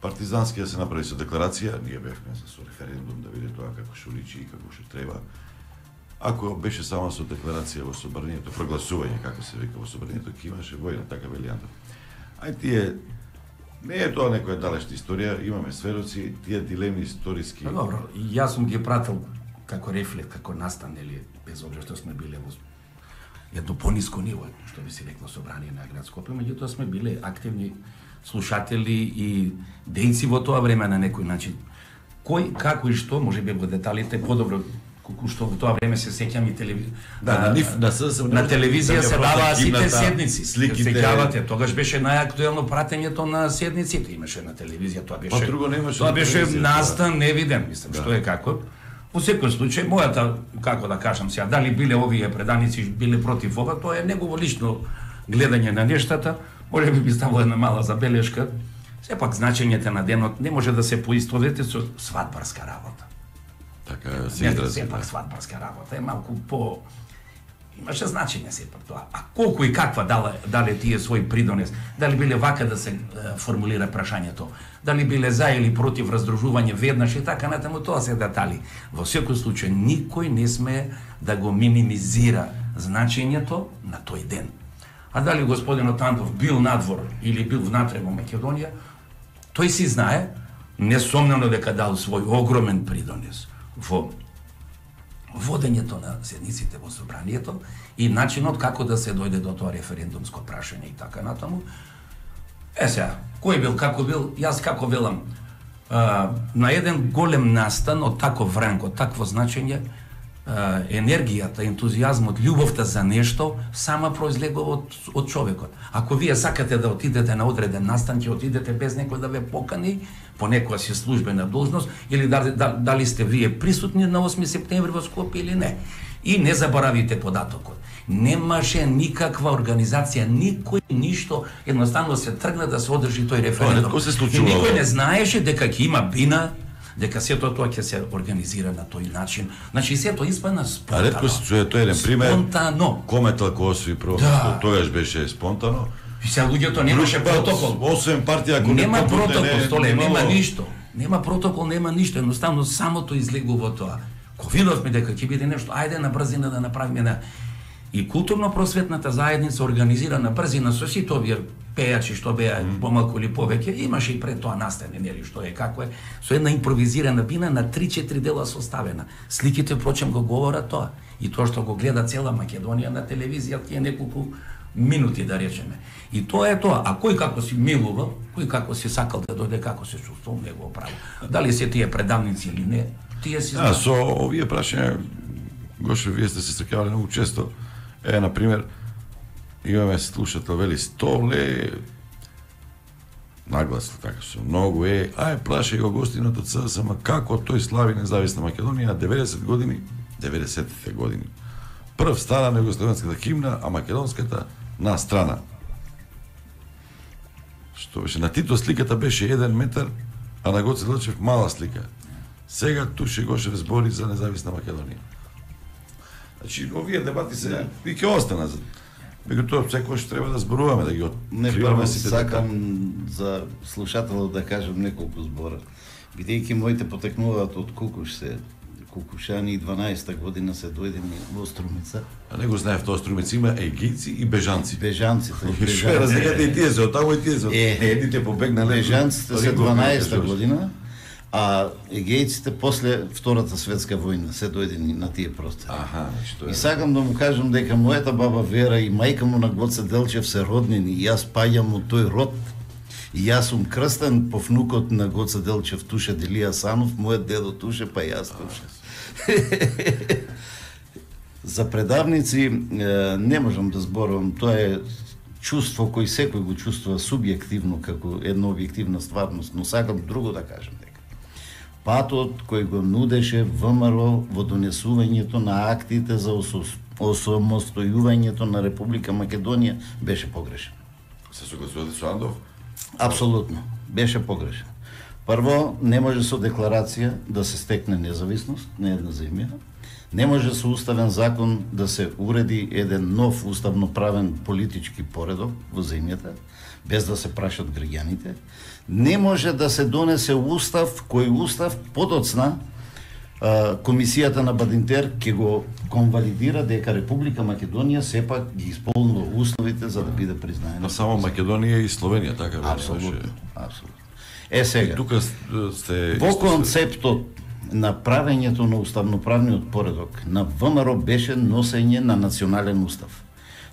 партизански да се направи со декларација, ние бевме со референдум да види тоа како што личи и како што треба. Ако беше само со декларација во собранието, прогласување, како се вика во собранието, ќе имаше војна, така вели Јандов. Ај тие, не е тоа некоја далечна историја, имаме сведоци, тие дилеми историски... Добро, јас сум ги пратил како рефлект, како настан, нели, без обзир што сме биле во едно пониско ниво, што би се рекло собрание на град Скопје, меѓутоа сме биле активни слушатели и дејци во тоа време на некој начин. Кој, како и што, може би во деталите подобро, колку што во тоа време се сеќам и на телевизија се даваа сите седници. Сеќавате, тогаш беше најактуелно пратењето на седниците, имаше на телевизија, тоа беше. Па друго немаше. Тоа беше настан невиден, мислам, што е како. Во секој случај, мојата, како да кажам сега, дали биле овие преданици биле против ова, тоа е негово лично гледање на нештата, може би ставило една мала забелешка. Сепак значењето на денот не може да се поистовети со свадбарска работа. Така се изрази. Сепак свадбарска работа е малку по... Имаше значење сепак тоа. А колку и каква дале тие свој придонес, дали биле вака да се формулира прашањето, дали биле за или против раздружување веднаш и така натаму, тоа се детали. Во секој случај никој не смее да го минимизира значењето на тој ден. А дали господинот Антов бил надвор или бил внатре во Македонија, тој си знае, несомнено дека дал свој огромен придонес во водењето на седниците во собранието и начинот како да се дојде до тоа референдумско прашање и така натаму. Сега, кој бил, како бил, јас како велам, на еден голем настан од таков ранг, од такво значење, енергијата, ентузијазмот, љубовта за нешто сама произлегува од човекот. Ако вие сакате да отидете на одреден настан, ќе отидете без некој да ве покани по некоја си службена должност или дали сте вие присутни на 8 септември во Скопје или не. И не заборавите податокот. Немаше никаква организација, никој ништо, едноставно се тргна да се одржи тој референдум. И никој не знаеше дека ќе има бина, дека сето тоа ќе се организира на тој начин. Значи сето испадна спонтано. А ретко се чуе тој еден пример. Спонтано. Кометал Косови прво, тогаш беше спонтано. И сега луѓето немаше протокол. Освен партија, ако нема протокол, столе, нема ништо. Нема протокол, нема ништо, едноставно самото излегува тоа. Ко видовме дека ќе биде нешто, ајде на брзина да направиме на... И културно-просветната заедница организира на брзина со сите овие пејачи што беа помалку или повеќе, имаше и пред тоа настане, нели, што е како е, со една импровизирана бина на 3-4 дела составена. Сликите, впрочем, го говорат тоа. И тоа што го гледа цела Македонија на телевизија, тие неколку минути, да речеме. И тоа е тоа. А кој како си милува, кој како си сакал да дојде, како се чувствувал, него право. Дали се тие предавници или не, тие си знаат. Со овие прашања, Гоше, вие сте се стрекавали многу често. Например, имаме слушател, вели 100 ле, нагласно така со многу плашај го гостинот од СДСМ, како тој слави независна Македонија 90-те години. Прв стана негословенската химна, а македонската на страна. Што беше, на Тито сликата беше 1 метар, а на Гоце Делчев мала слика. Сега Туше Гошев збори за независна Македонија. Значи, овие дебати се и ќе останат. Меѓутоа, секојаш треба да зборуваме, да ги откриваме сите детали. Сакам за слушателот да кажам неколку збора. Бидејќи моите потекнуваат од Кукуш се, Кукушани и 12-та година се дојдени во Струмица. А не го знаев тоа, Струмица има егијци и бежанци. Бежанците. Што е разликата и тие се, од тамо и тие се. Едните побегнале. Бежанците се 12-та година, а егејците после Втората светска војна се дојдени на тие простори. И сакам да му кажам дека мојата баба Вера и мајка му на Гоце Делчев се роднини, и јас паѓам од тој род. И јас сум крстен по внукот на Гоце Делчев, Туше Делија Санов, мојот дедо Туше, па јас Туше. За предавници не можам да зборувам, тоа е чувство кој секој го чувствува субјективно како една објективна стварност, но сакам друго да кажам дека патот кој го нудеше ВМРО во донесувањето на актите за осамостојувањето на Република Македонија беше погрешен. Се согласувате со Андов? Апсолутно, беше погрешен. Прво, не може со декларација да се стекне независност на една земја, не може со уставен закон да се уреди еден нов уставноправен политички поредок во земјата, без да се прашат граѓаните, не може да се донесе устав, кој устав подоцна Комисијата на Бадинтер ќе го конвалидира дека Република Македонија сепак ги исполнува условите за да биде признаена. Но само Македонија и Словенија, така беше. Апсолутно, апсолутно. Сега, тука сте во концептот на правењето на уставноправниот поредок на ВМРО беше носење на национален устав.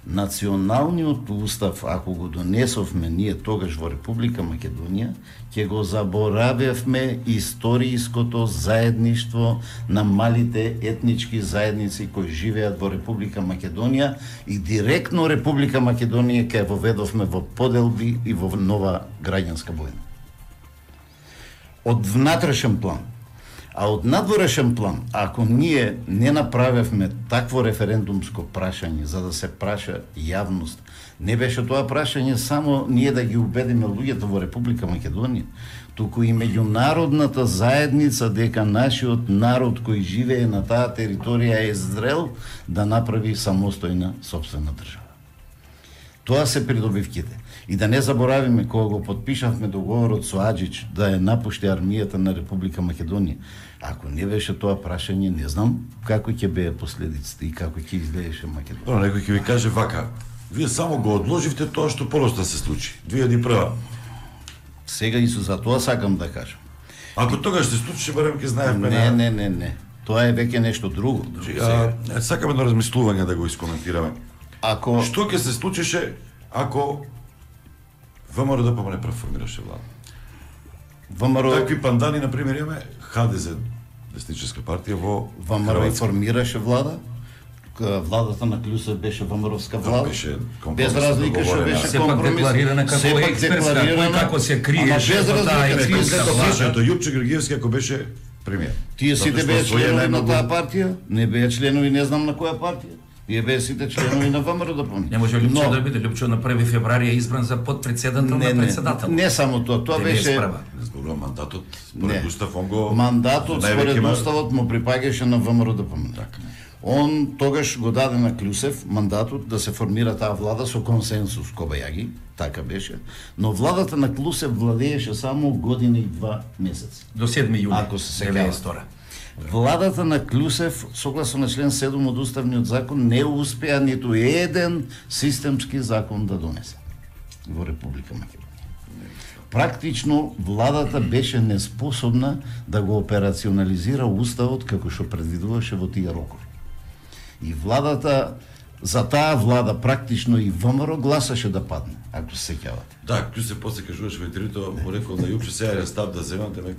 Националниот устав, ако го донесовме ние тогаш во Република Македонија, ќе го заборавевме историјското заедништво на малите етнички заедници кои живеат во Република Македонија и директно Република Македонија ќе воведовме во поделби и во нова граѓанска војна. Од внатрешен план, А од надворешен план, ако ние не направевме такво референдумско прашање за да се праша јавност, не беше тоа прашање само ние да ги убедиме луѓето во Република Македонија, туку и меѓународната заедница дека нашиот народ кој живее на таа територија е зрел да направи самостојна сопствена држава. Тоа се придобивките. И да не заборавиме кога го подпишавме договорот со Аџич да ја напушти армијата на Република Македонија. Ако не беше тоа прашање, не знам како ќе беа последиците и како ќе изгледаше Македонија. Но некој ќе ви каже вака: вие само го одложивте тоа што полоста се случи. 2001. Сега и за тоа сакам да кажам. Ако тогаш се случи, барем ќе знаевме. Не. Тоа е веќе нешто друго. Сакаме едно размислување да го искоментираме. Ако што ќе се случише ако ВМРО да не преформираше влада? ВМРО такви пандани, например, имаме ХДЗ, Десническа партија во ВМРО формираше влада. Владата на Клюсев беше ВМРО-вска влада. Без разлика што беше компромис. Декларирана како експертска, кој како се криеше во таа експертска влада. Јупче Георгиевски ако беше премиер. Тие сите беа членови на таа партија, не беа членови не знам на која партија. Тие беа сите членови на ВМРО да помни. Не може Лјупчо да биде. Лјупчо на 1 февруари е избран за подпредседател на председател. Не само тоа, тоа беше зборува мандатот според Устав, он го мандатот според Уставот му припаѓаше на ВМРО да помни. Он тогаш го даде на Клюсев мандатот да се формира таа влада со консенсус Кобајаги, така беше, но владата на Клюсев владееше само година и 2 месеци. До 7 јули, ако се сеќавате. Владата на Клюсев, согласно на член 7 од Уставниот закон, не успеа ниту еден системски закон да донесе во Република Македонија. Практично владата беше неспособна да го операционализира Уставот како што предвидуваше во тие рокови. И владата, за таа влада практично и ВМРО гласаше да падне, ако се сеќавате. Да, Клюсев после кажуваше во интервјуто, му рекол на Јупче сега е став да земате,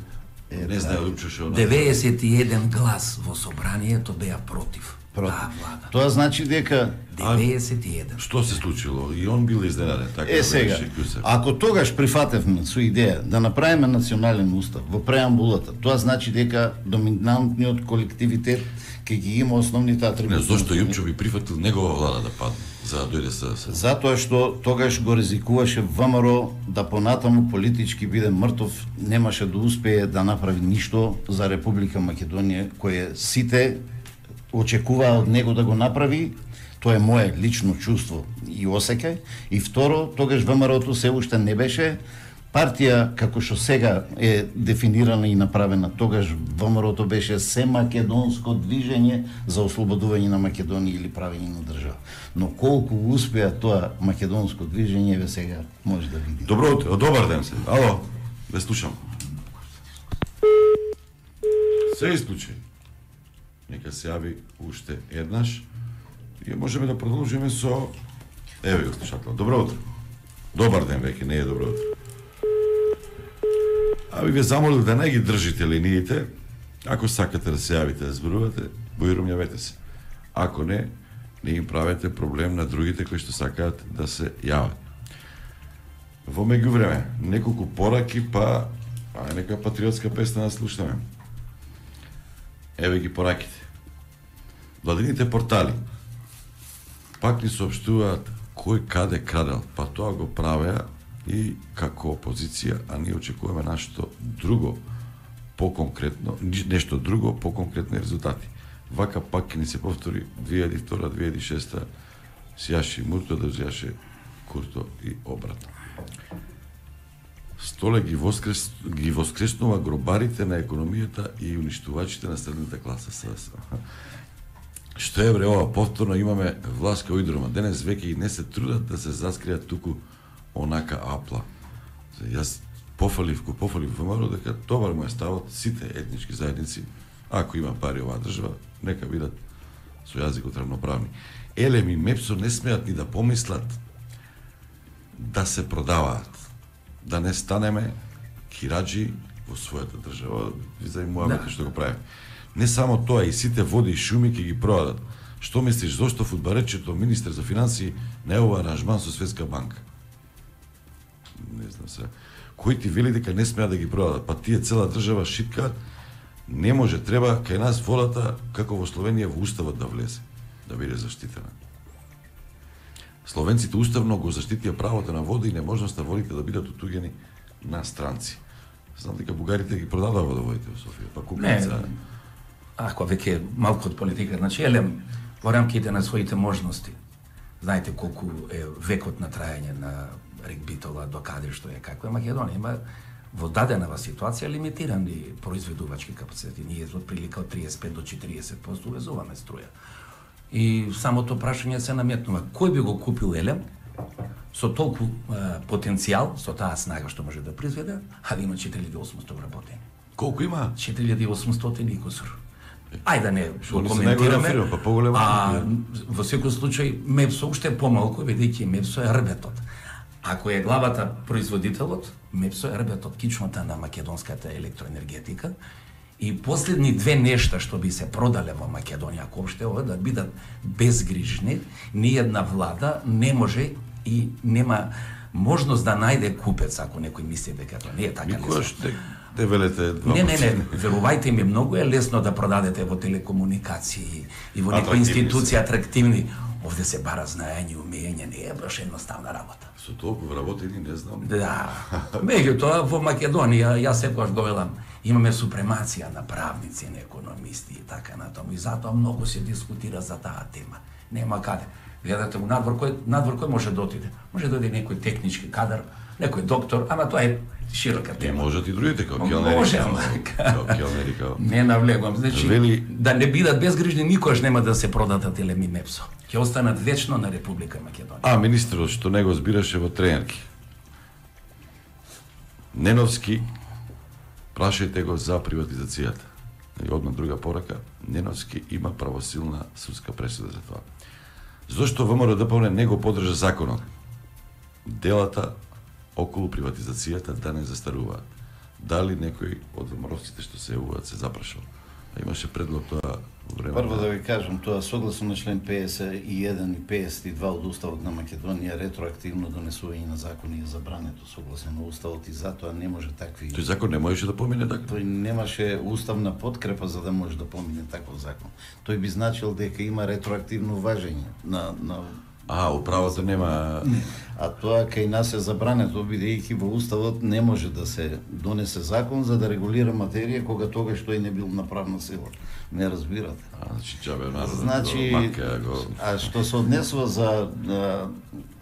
не знае Јупче што. 91 глас во собранието беа против. Таа влада. Тоа значи дека 91. Што се случило? И он бил изненаден, така сега, ако тогаш прифатевме со идеја да направиме национален устав во преамбулата, тоа значи дека доминантниот колективитет ќе ги има основните атрибути. Не, зошто Јупче би прифатил негова влада да падне, за да дојде со... Затоа што тогаш го ризикуваше ВМРО да понатаму политички биде мртов, немаше да успее да направи ништо за Република Македонија, кое сите очекуваа од него да го направи. Тоа е мое лично чувство и осеќај. И второ, тогаш ВМРО-то се уште не беше партија како што сега е дефинирана и направена. Тогаш ВМРО-то беше се македонско движење за ослободување на Македонија или правење на држава. Но колку успеа тоа македонско движење, ве сега може да видите. Добро утро, добар ден се. Ало, ве слушам. Се исклучи. Нека се јави уште еднаш и можеме да продолжиме со... Еве го слушател. Добро утро. Добар ден веќе, не е добро утро. Би ве замолил да не ги држите линиите. Ако сакате да се јавите да зборувате, бојрум јавете се. Ако не, не им правете проблем на другите кои што сакаат да се јават. Во меѓувреме, неколку пораки, па нека патриотска песна да слушаме. Еве ги пораките. Владините портали пак ни соопштуваат кој каде крадел, па тоа го правеа и како опозиција, а ние очекуваме нашто друго, поконкретно, нешто друго, поконкретни резултати. Вака пак ќе ни се повтори 2002-2006 сјаше Мурто да взјаше Курто и обратно. Столе ги воскреснува гробарите на економијата и уништувачите на средната класа. Што е бре ова, повторно имаме власт кај Уидрома. Денес веќе и не се трудат да се заскријат туку онака апла. Јас пофалив ВМРО дека добар му е ставот сите етнички заедници, ако има пари оваа држава, нека бидат со јазикот равноправни. Елем и Мепсо не смеат ни да помислат да се продаваат, да не станеме кираџи во својата држава, за муабето што го правиме. Не само тоа, и сите води и шуми ќе ги продадат. Што мислиш, зошто фудбалерчето министер за финансии не е ова аранжман со Светска банка? Не знам се. Кој ти вели дека не смеа да ги продадат? Па тие цела држава шиткаат Не може, треба кај нас водата, како во Словенија, во уставот да влезе, да биде заштитена. Словенците уставно го заштитија правото на вода и неможноста водите да бидат отуѓени на странци. Знам дека бугарите ги продадаа водоводите во Софија, па купуваат. Ако веќе малку од политика, значи елем во рамките на своите можности. Знаете колку е векот на трајање на рек Битола, до каде што е, како е Македонија, има во даденава ситуација лимитирани произведувачки капацитети. Ние од прилика од 35 до 40% увезуваме струја. И самото прашање се наметнува, кој би го купил елем со толку потенцијал, со таа снага што може да произведе, а да има 4800 вработени. Колку има? 4800 и кусур. Ајде да не го коментираме, во секој случај МЕПСО уште е помалку, бидејќи МЕПСО е рбетот. Ако е главата производителот, МЕПСО е рбетот, кичмата на македонската електроенергетика. И последни две нешта што би се продале во Македонија, ако уште ова да бидат безгрижни, ниедна влада не може и нема можност да најде купец, ако некој мисли дека тоа не е така. Никош те велете два. Не, верувајте ми, многу е лесно да продадете во телекомуникации и во некои институции атрактивни. Овде се бара знаење, умење, не е баш едноставна работа. Со толку вработени не знам. Да. Меѓутоа во Македонија, јас секогаш го велам, имаме супремација на правници, на економисти и така натаму. И затоа многу се дискутира за таа тема. Нема каде. Гледате во надвор кој може да отиде? Може да оди некој технички кадар, некој доктор, ама тоа е широка тема. Не можат и другите, како келнери. Може, ама не навлегувам. Значи, да не бидат безгрижни, никош нема да се продадат елеми МЕПСО. Ќе останат вечно на Република Македонија. А министерот што не го збираше во Трејанки. Неновски, прашајте го за приватизацијата. И одма друга порака, Неновски има правосилна судска пресуда за тоа. Зошто ВМРО-ДПМНЕ не го подржа законот? Делата околу приватизацијата да не застаруваат. Дали некој од ВМРО-ците што се јавуваат се запрашал? Имаше предлог тоа во време. Прво да ви кажам, тоа согласно на член 51 и 52 од Уставот на Македонија, ретроактивно донесување на закони е забрането согласно на Уставот и затоа не може такви... Тој закон не можеше да помине така? Тој немаше уставна подкрепа за да може да помине таков закон. Тој би значил дека има ретроактивно важење на управата нема... А тоа кај нас е забрането, бидејќи во Уставот не може да се донесе закон за да регулира материја кога тогаш тој не бил на правна сила. Не разбирате. Значи џабе народот. Значи, а што се однесува за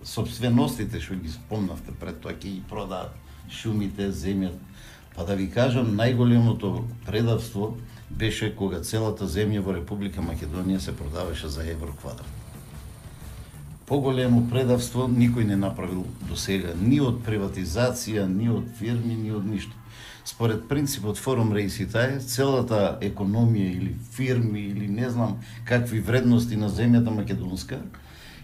собственостите што ги спомнавте пред тоа, ќе ги продаат шумите, земјата. Па да ви кажам, најголемото предавство беше кога целата земја во Република Македонија се продаваше за евро квадрат. Поголемо предавство никој не направил до сега, ни од приватизација, ни од фирми, ни од ништо. Според принципот форум реиситај, целата економија или фирми или не знам какви вредности на земјата македонска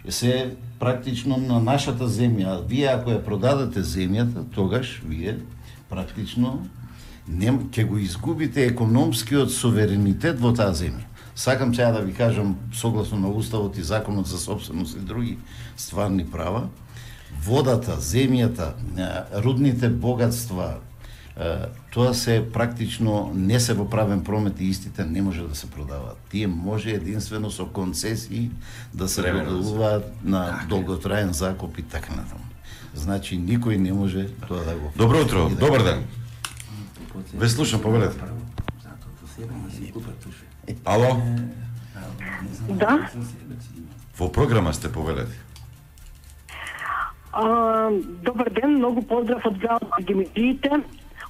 се практично на нашата земја. Вие ако ја продадете земјата, тогаш вие практично ќе го изгубите економскиот суверенитет во таа земја. Сакам сега да ви кажам, согласно на Уставот и Законот за собственост и други стварни права, водата, земјата, рудните богатства, тоа се практично не се во правен промет и истите не може да се продаваат. Тие може единствено со концесии да се доделуваат на долготраен закуп и така натаму. Значи никој не може тоа да го... Добро утро, добар ден. Ве слушам, повелете. Ало? Да. Во програма сте, повелете. Добар ден, многу поздрав од градот на Гимиджиите,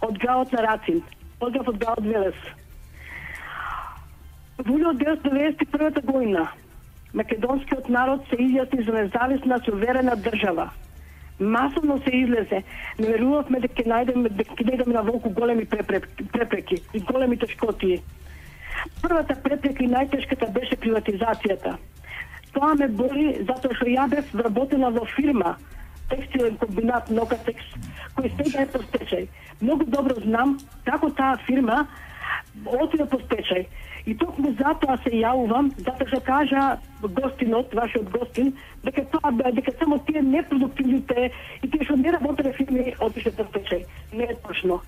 од градот на Рацин. Поздрав од градот Велес. Во 1991 година македонскиот народ се изјасни за независна суверена држава. Масовно се излезе. Не верувавме дека ќе најдеме на волку големи препреки и големи тешкотии. Првата препрека и најтешката беше приватизацијата. Тоа ме боли затоа што ја бев вработена во фирма, текстилен комбинат Нокатекс, кој сега е по стечај. Многу добро знам како таа фирма отиде по стечај. И токму затоа се јавувам, затоа што кажа гостинот, вашиот гостин, дека само тие непродуктивните и тие што не работеле фирми отише по стечај. Не е точно.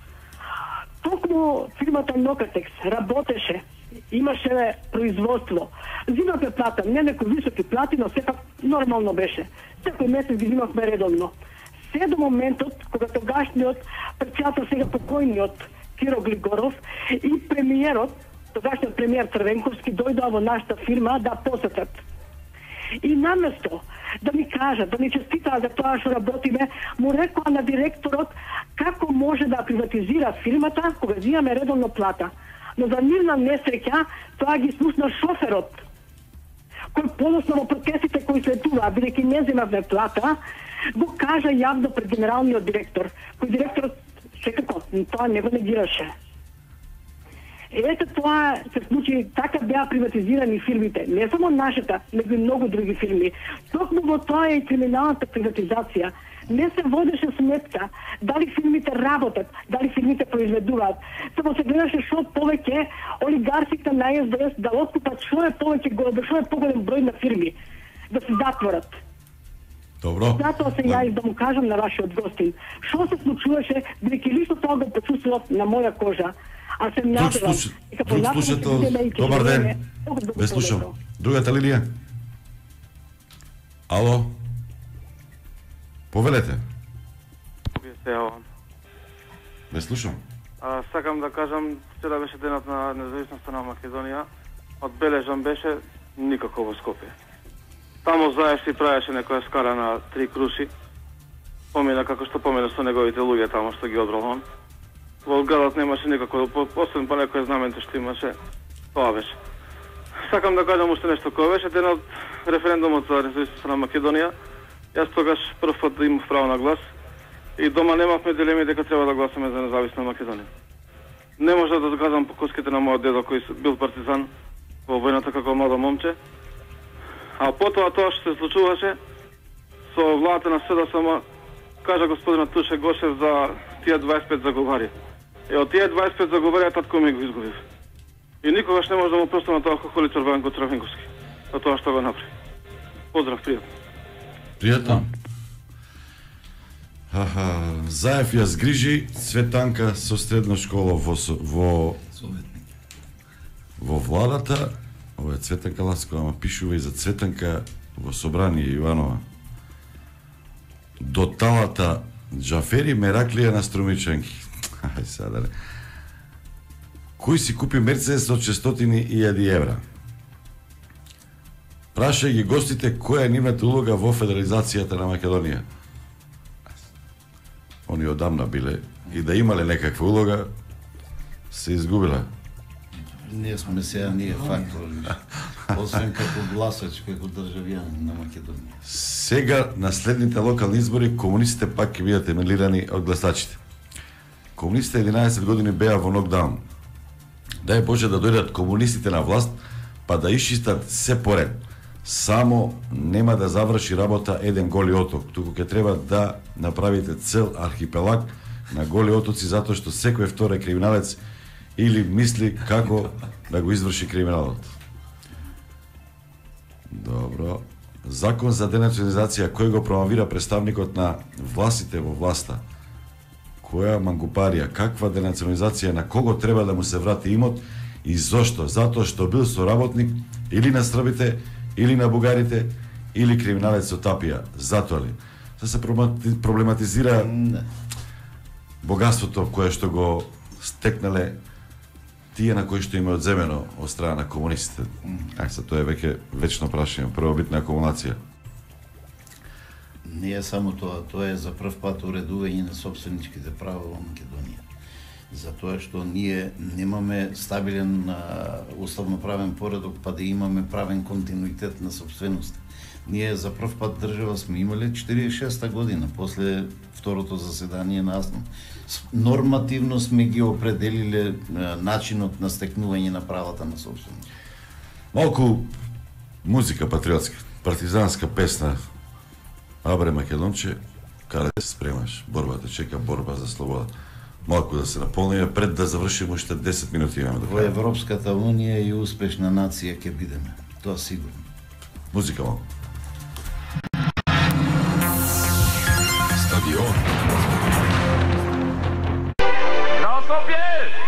Токму фирмата Нокатекс работеше, имаше производство. Зимавме плата, не некои високи плати, но сепак нормално беше. Секој месец ги зимавме редовно. Се до моментот кога тогашниот председател, сега покојниот Киро Глигоров и премиерот, тогашниот премиер Црвенковски, дојдоа во нашата фирма да посетат. И наместо да ми кажат, да ми честитаат за тоа што работиме, му рекоа на директорот како може да приватизира фирмата кога зимаме редовно плата. Но за нивна несреќа тоа ги слушна шоферот, кој подосно во протестите кои следуваа, бидејќи не земавме плата, го кажа јавно пред генералниот директор, кој директорот секако тоа не го негираше. Ете тоа се случи, така беа приватизирани фирмите, не само нашата, него и многу други фирми. Токму во тоа е и криминалната приватизација. Не се водеше сметка дали фирмите работат, дали фирмите произведуваат. Само се гледаше што повеќе олигарсите на СДС да откупат, што е поголем број на фирми да се затворат. Добро. Затоа се јавив да му кажам на вашиот гостин што се случуваше, бидејќи лично тоа го почувствував на моја кожа. А се надевам. Друг слушател, добар ден. Ве слушам. Другата линија. Ало. Повелете. Ве слушам. Сакам да кажам, вчера беше денот на независноста на Македонија. Одбележан беше никако во Скопје. Таму Заев си правеше некоја скара на 3 круши. Помина како што помина со неговите луѓе таму што ги одбрал он. Во градот немаше никако, освен па некој знаменте што имаше, тоа беше. Сакам да кажам уште нешто, кој беше денот референдумот за независноста на Македонија. Јас тогаш прв пат имав право на глас и дома немавме дилеми дека треба да гласаме за независна Македонија. Не може да доказам по коските на мојот дедо кој бил партизан во војната како младо момче. А потоа тоа што се случуваше со владата на СДСМ, кажа господинот Туше Гошев за тие 25 заговари. И од тие 25 заговарија татко ми го изгубив. И никогаш не може да му простам на тоа хохолицар Ванко Црвенковски. За тоа што го направи. Поздрав, пријатно. Пријатно. Заев ја згрижи Цветанка со средна школа во владата. Ова е Цветанка Ласкова, ама пишува и за Цветанка во собрание Иванова. До талата Джафери Мераклија на Струмичанки. Ај сега не. Кој си купи Мерцедес од 600.000 евра? Праша ги гостите која е нивната улога во федерализацијата на Македонија. Они одамна биле и да имале некаква улога, се изгубила. Ние сме сега фактори. Освен како гласач, како државјан на Македонија. Сега на следните локални избори комунистите пак ќе бидат емилирани од гласачите. Комунистите 11 години беа во нокдаун. Дај Боже да дојдат комунистите на власт, па да исчистат се поред. Само нема да заврши работа еден голи оток, туку ќе треба да направите цел архипелаг на голи отоци затоа што секој втори криминалец или мисли како да го изврши криминалот. Добро. Закон за денационализација кој го промовира представникот на властите во власта. Која мангупарија, каква денационализација, на кого треба да му се врати имот и зошто? Затоа што бил соработник или на србите, или на бугарите, или криминалец од Тапија. Затоа ли? Се проблематизира богатството кое што го стекнале тие на кои што им е одземено од страна на комунистите. Тоа е веќе вечно прашање, првобитна акумулација. Не е само тоа, тоа е за прв пат уредување на собственичките права во Македонија. Затоа што ние немаме стабилен уставноправен поредок, па да имаме правен континуитет на собственост. Ние за прв пат држава сме имале 46-та година, после второто заседание на АСН. Нормативно сме ги определиле начинот на стекнување на правата на собственост. Малку музика патриотска, партизанска песна. Абре Македонче, каде се спремаш? Борбата чека, борба за слобода. Малку да се наполниме пред да завршиме уште 10 минути имаме до крај. Во Европската унија и успешна нација ќе бидеме. Тоа сигурно. Музика малку. Стадион. Браво, Скопје!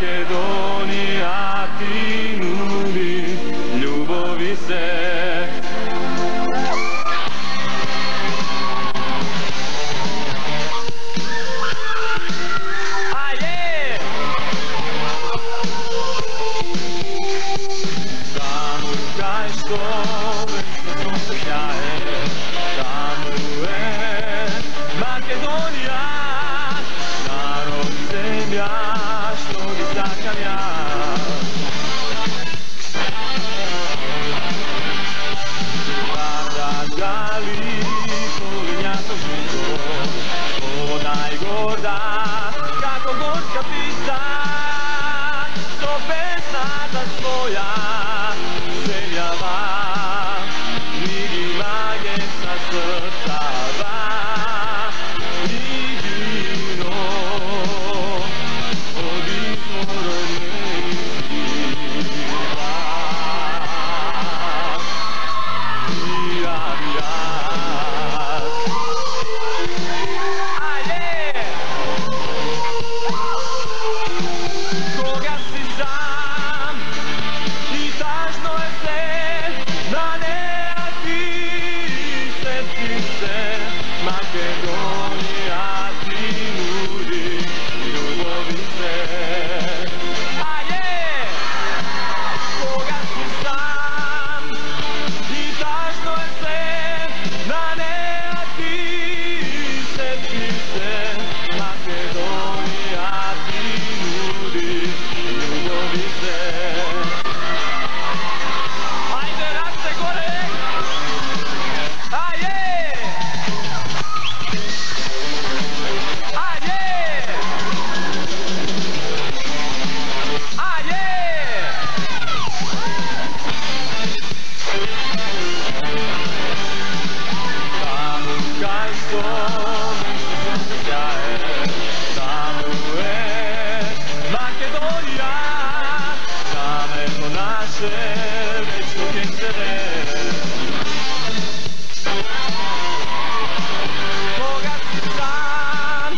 Македонија ти нуди љубови се. Таму кај што вечно сонце сјае, таму е Македонија, народ земја што ги сакам ја. Варда гали полиња со жито, вода и горда како горска писта, со песната своја земјава ми ги маге са срцава. Идино од изворот неизбива. Кога си сам и тажно е се, на неа ти сети се. Македонија ти нуди љубови се. Кога си сам и тажно е се, на неа ти сети се. Македонија ти нуди љубови се. Ајде, раце горе! Ајде! Ајде! Ајде! Таму кај што вечно сонце сјае, таму е Македонија, камето наше вечно ќе се вее. Кога си сам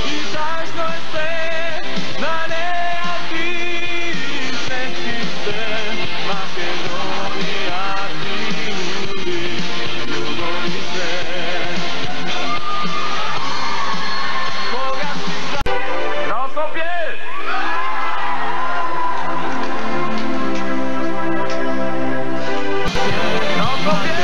и тажно е се, на неа ти сети се. Македонија ти нуди љубови се. Кога си сам на Скопје! На Скопје!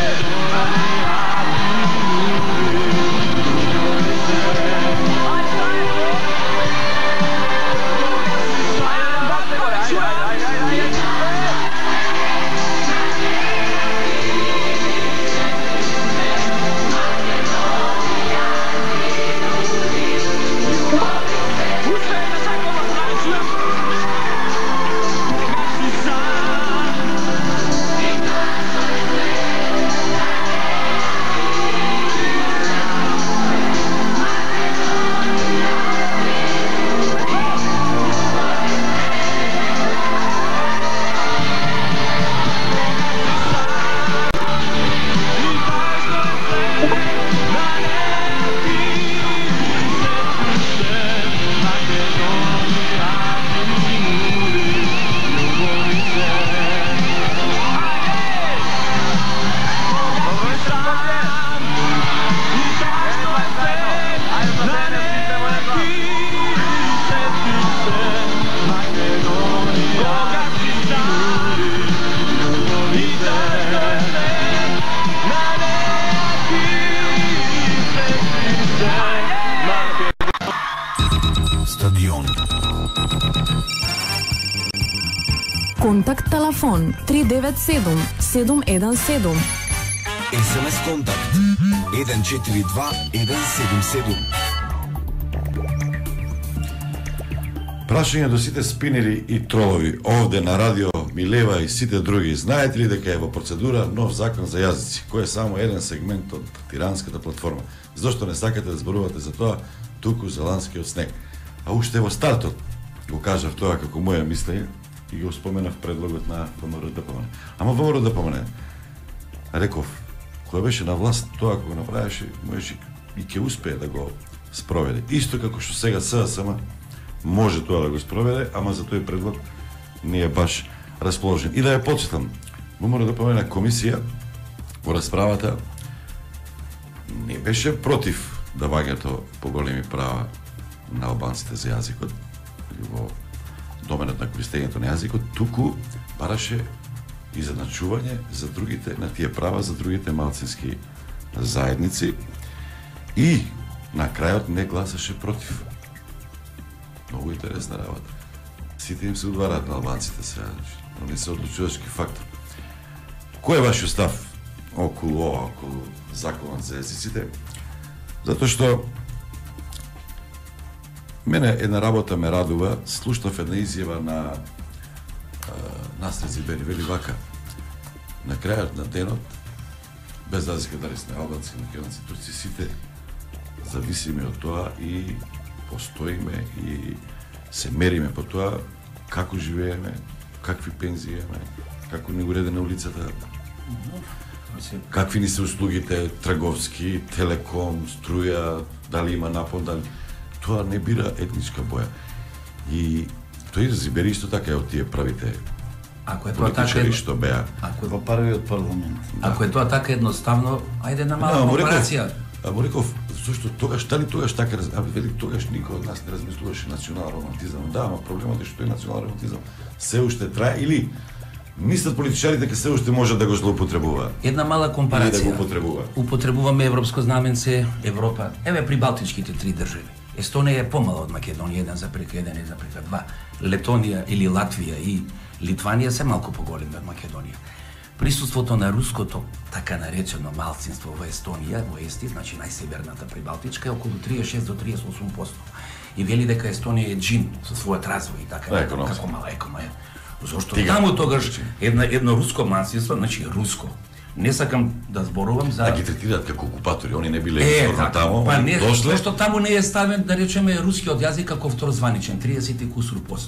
Контакт телефон 397 717. СМС контакт 142 177. Прашање до сите спинери и тролови овде на радио Милева и сите други. Знаете ли дека е во процедура нов закон за јазици, кој е само еден сегмент од тиранската платформа? Зошто не сакате да зборувате за тоа туку за ланскиот снег? А уште во стартот го кажав тоа како моја мислење и го споменав предлогот на ВМРО-ДПМН. Ама ВМРО-ДПМН реков, кој беше на власт, тоа кога го направеше, можеше и ќе успее да го спроведе. Исто како што сега СДСМ може тоа да го спроведе, ама за тој предлог не е баш расположен. И да ја подсетам, мора да помена комисија во расправата не беше против давањето поголеми права на албанците за јазикот или во доменот на користењето на јазикот, туку бараше изедначување за другите, на тие права за другите малцински заедници и на крајот не гласаше против. Многу интересна работа. Сите им се удвараат на албанците сега, они се одлучувачки фактор. Кој е вашиот став околу законот за езиците? Затоа што мене една работа ме радува, слушнав една изјава на Насред Зибери, вели вака: на крајот на денот, без разлика дали сме албанци, македонци, турци, сите зависиме од тоа и постоиме и се мериме по тоа како живееме, какви пензии имаме, како ни уреде на улицата, какви ни се услугите, трговски, телеком, струја, дали има напон, дали... Тоа не бира етничка боја. И тој Зибери исто така е од тие правите политичари што беа во првиот парламент. Ако е тоа така едноставно, ајде на мала операција. Амо реков, зашто тогаш, дали тогаш така, вели тогаш никој од нас не размислуваше национален романтизам. Да, ама проблемот е што тој национален романтизам се уште трае или мислат политичарите ке се уште може да го злоупотребуваат. Една мала компарација. Да го употребуваат. Употребуваме европско знаменце, Европа. Еве при балтичките 3 држави. Естонија е помала од Македонија, 1:1, 1:2. Летонија или Латвија и Литванија се малку поголеми од Македонија. Присуството на руското, така наречено малцинство во Естонија, во Ести, значи најсеверната прибалтичка, е околу 36 до 38%. И вели дека Естонија е джин со својот развој и така, како мала економија. Зошто таму тогаш едно руско малцинство, значи руско. Не сакам да зборувам за... Да ги третираат како окупатори, они не биле изворно таму, па не, дошле... Зашто таму не е ставен, да речеме, рускиот јазик како второзваничен, 30%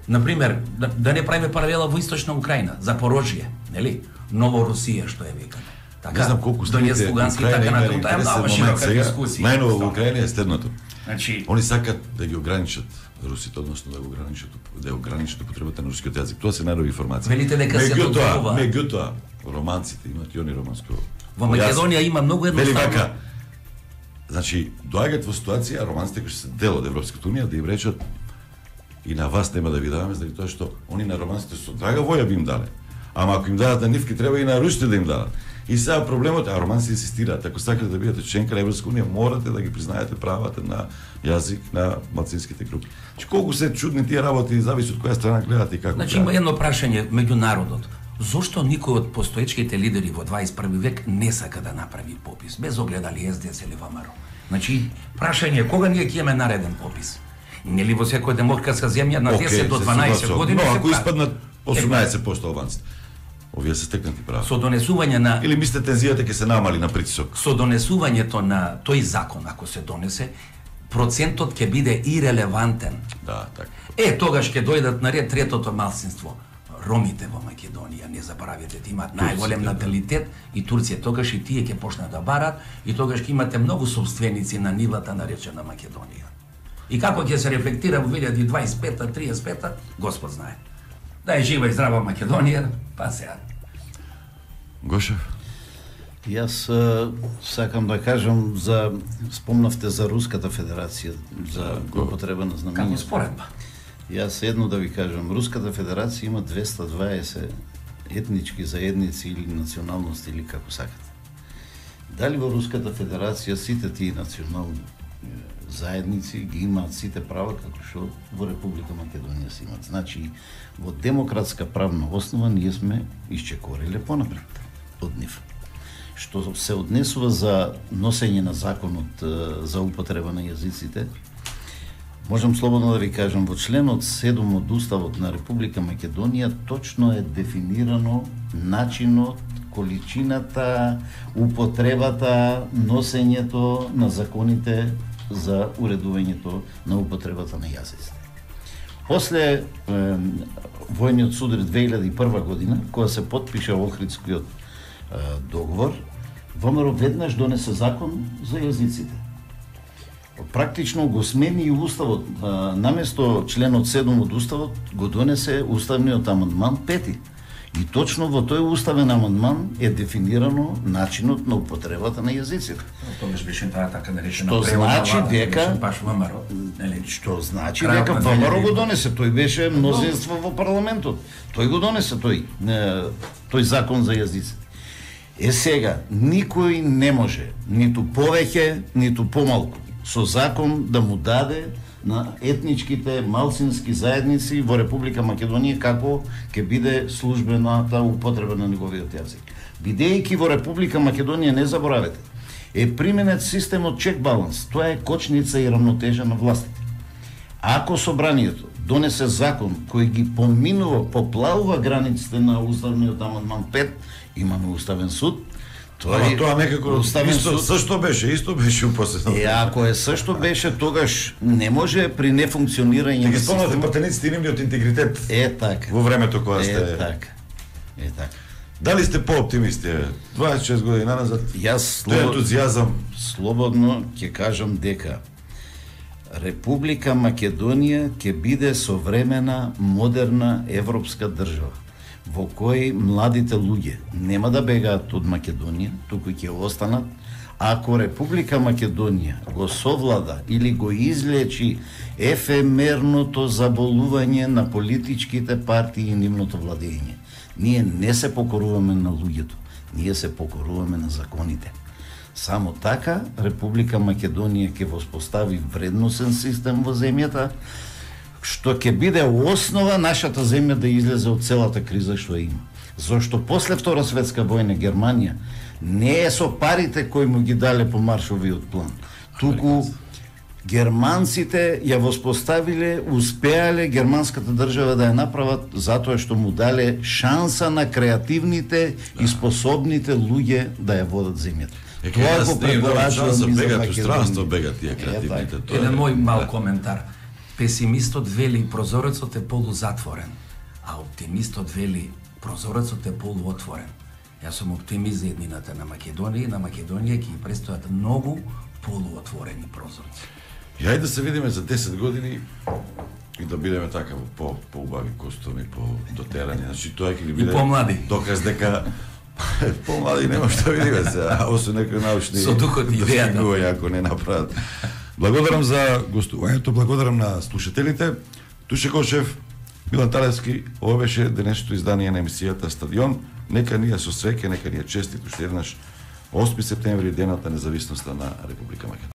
Например, да не правиме паралела во Источна Украина, Запорожје, нели? Ново Русија, што е викано. Така, не знам колку следите Украина има интересен момент сега. Најново во Украина е следното. Значи, они сакат да ги ограничат русите, односно да ограничат употребата на рускиот јазик. Тоа се најнови информации. Велите дека се дозволува. Меѓутоа, романците имат и они романско. Во Македонија има многу едноставно. Вели вака. Значи, доаѓаат во ситуација романците кои се дел од Европската унија да им речат и на вас нема да ви даваме, заради тоа што они на романците со драга воја би им дале. Ама ако им дадат на нивки, треба и на русите да им дадат. И сега проблемот е, романците инсистираат, ако сакате да бидете членка на Европска унија, морате да ги признаете правата на јазик на малцинските групи. Значи, колку се чудни тие работи, зависи од која страна гледате и како. Значи, има едно прашање меѓу народот. Зошто никој од постоечките лидери во 21 век не сака да направи попис, без оглед дали СДС или ВМРО? Значи, прашање, кога ние ќе имаме нареден попис? Нели во секоја демократска земја на 10 до 12 години се ако испаднат 18% албанците, овие се стекнати права. Со донесување на... Или мислите тензијата ќе се намали на притисок? Со донесувањето на тој закон, ако се донесе, процентот ќе биде ирелевантен. Да, така. Тогаш ќе дојдат на ред третото малцинство. Ромите во Македонија, не заборавете, имаат најголем наталитет и Турција, тогаш и тие ќе почнат да барат и тогаш ќе имате многу собственици на нивата наречена Македонија. И како ќе се рефлектира во 2025-та, 35-та, Господ знае. Да е жива и здрава Македонија, па сега. Гошев? Јас сакам да кажам спомнавте за Руската Федерација, за употреба на знамењето. Како споредба? Јас едно да ви кажам, Руската Федерација има 220 етнички заедници или националности или како сакате. Дали во Руската Федерација сите тие национални заедници ги имаат сите права како што во Република Македонија се имаат. Значи, во демократска правна основа ние сме исчекориле понапред од нив. Што се однесува за носење на законот за употреба на јазиците, можам слободно да ви кажам, во членот 7 од Уставот на Република Македонија точно е дефинирано начинот, количината, употребата, носењето на законите за уредувањето на употребата на јазиците. После војниот судар 2001 година, кога се потпиша Охридскиот договор, ВМРО веднаш донесе закон за јазиците. практично го смени и уставот. Наместо членот 7 од уставот го донесе уставниот амандман 5. И точно во тој уставен амандман е дефинирано начинот на употребата на јазиците. Тогаш беше таа така наречена Што значи дека баш ВМРО, нели? Што значи дека ВМРО го донесе, тој беше мнозинство во парламентот. Тој го донесе тој закон за јазиците. Сега никој не може ниту повеќе, ниту помалку со закон да му даде на етничките малцински заедници во Република Македонија како ќе биде службената употреба на неговиот јазик. Бидејќи во Република Македонија, не заборавете, е применет системот чек-баланс. Тоа е кочница и рамнотежа на властите. Ако собранието донесе закон кој ги поминува, поплавува границите на уставниот амандман 5, имаме уставен суд. Тоа некако исто беше упоследно. Ако е сашто беше, тогаш не може при нефункционирање на системот. Ги пратениците нивниот интегритет. Така. Во времето кога сте. Така. Дали сте по-оптимисти? 26 години назад. Јас ентузијазам. Слободно ќе кажам дека Република Македонија ќе биде современа, модерна европска држава, во кој младите луѓе нема да бегаат од Македонија, туку ќе останат, ако Република Македонија го совлада или го излечи ефемерното заболување на политичките партии и нивното владење. Ние не се покоруваме на луѓето, ние се покоруваме на законите. Само така Република Македонија ќе воспостави вредносен систем во земјата, што ќе биде основа нашата земја да излезе од целата криза што има. Зошто после Втора светска војна Германија не е со парите кои му ги дале по Маршовиот план, туку германците ја воспоставиле, успеале германската држава да ја направат затоа што му дале шанса на креативните и способните луѓе да ја водат земјата. Тоа го препорачувам и за Македонија. Бегат тие креативните. Еден мој мал коментар. Песимистот вели прозорецот е полузатворен, а оптимистот вели прозорецот е полуотворен. Јас сум оптимист за еднината на Македонија и на Македонија ќе престојат многу полуотворени прозорци. И ајде да се видиме за 10 години и да бидеме така по-убави костуми, по-дотерани. Значи тоа ќе ни биде помлади. Доказ дека помлади нема што видиме се, освен некои научни со духот и идејата ако не направат. Благодарам за гостувањето, благодарам на слушателите. Туше Кошев, Милан Талевски, ова беше денешното издание на емисијата Стадион. Нека ние со среќа, нека ние честито уште еднаш 8 септември, денот на независноста на Република Македонија.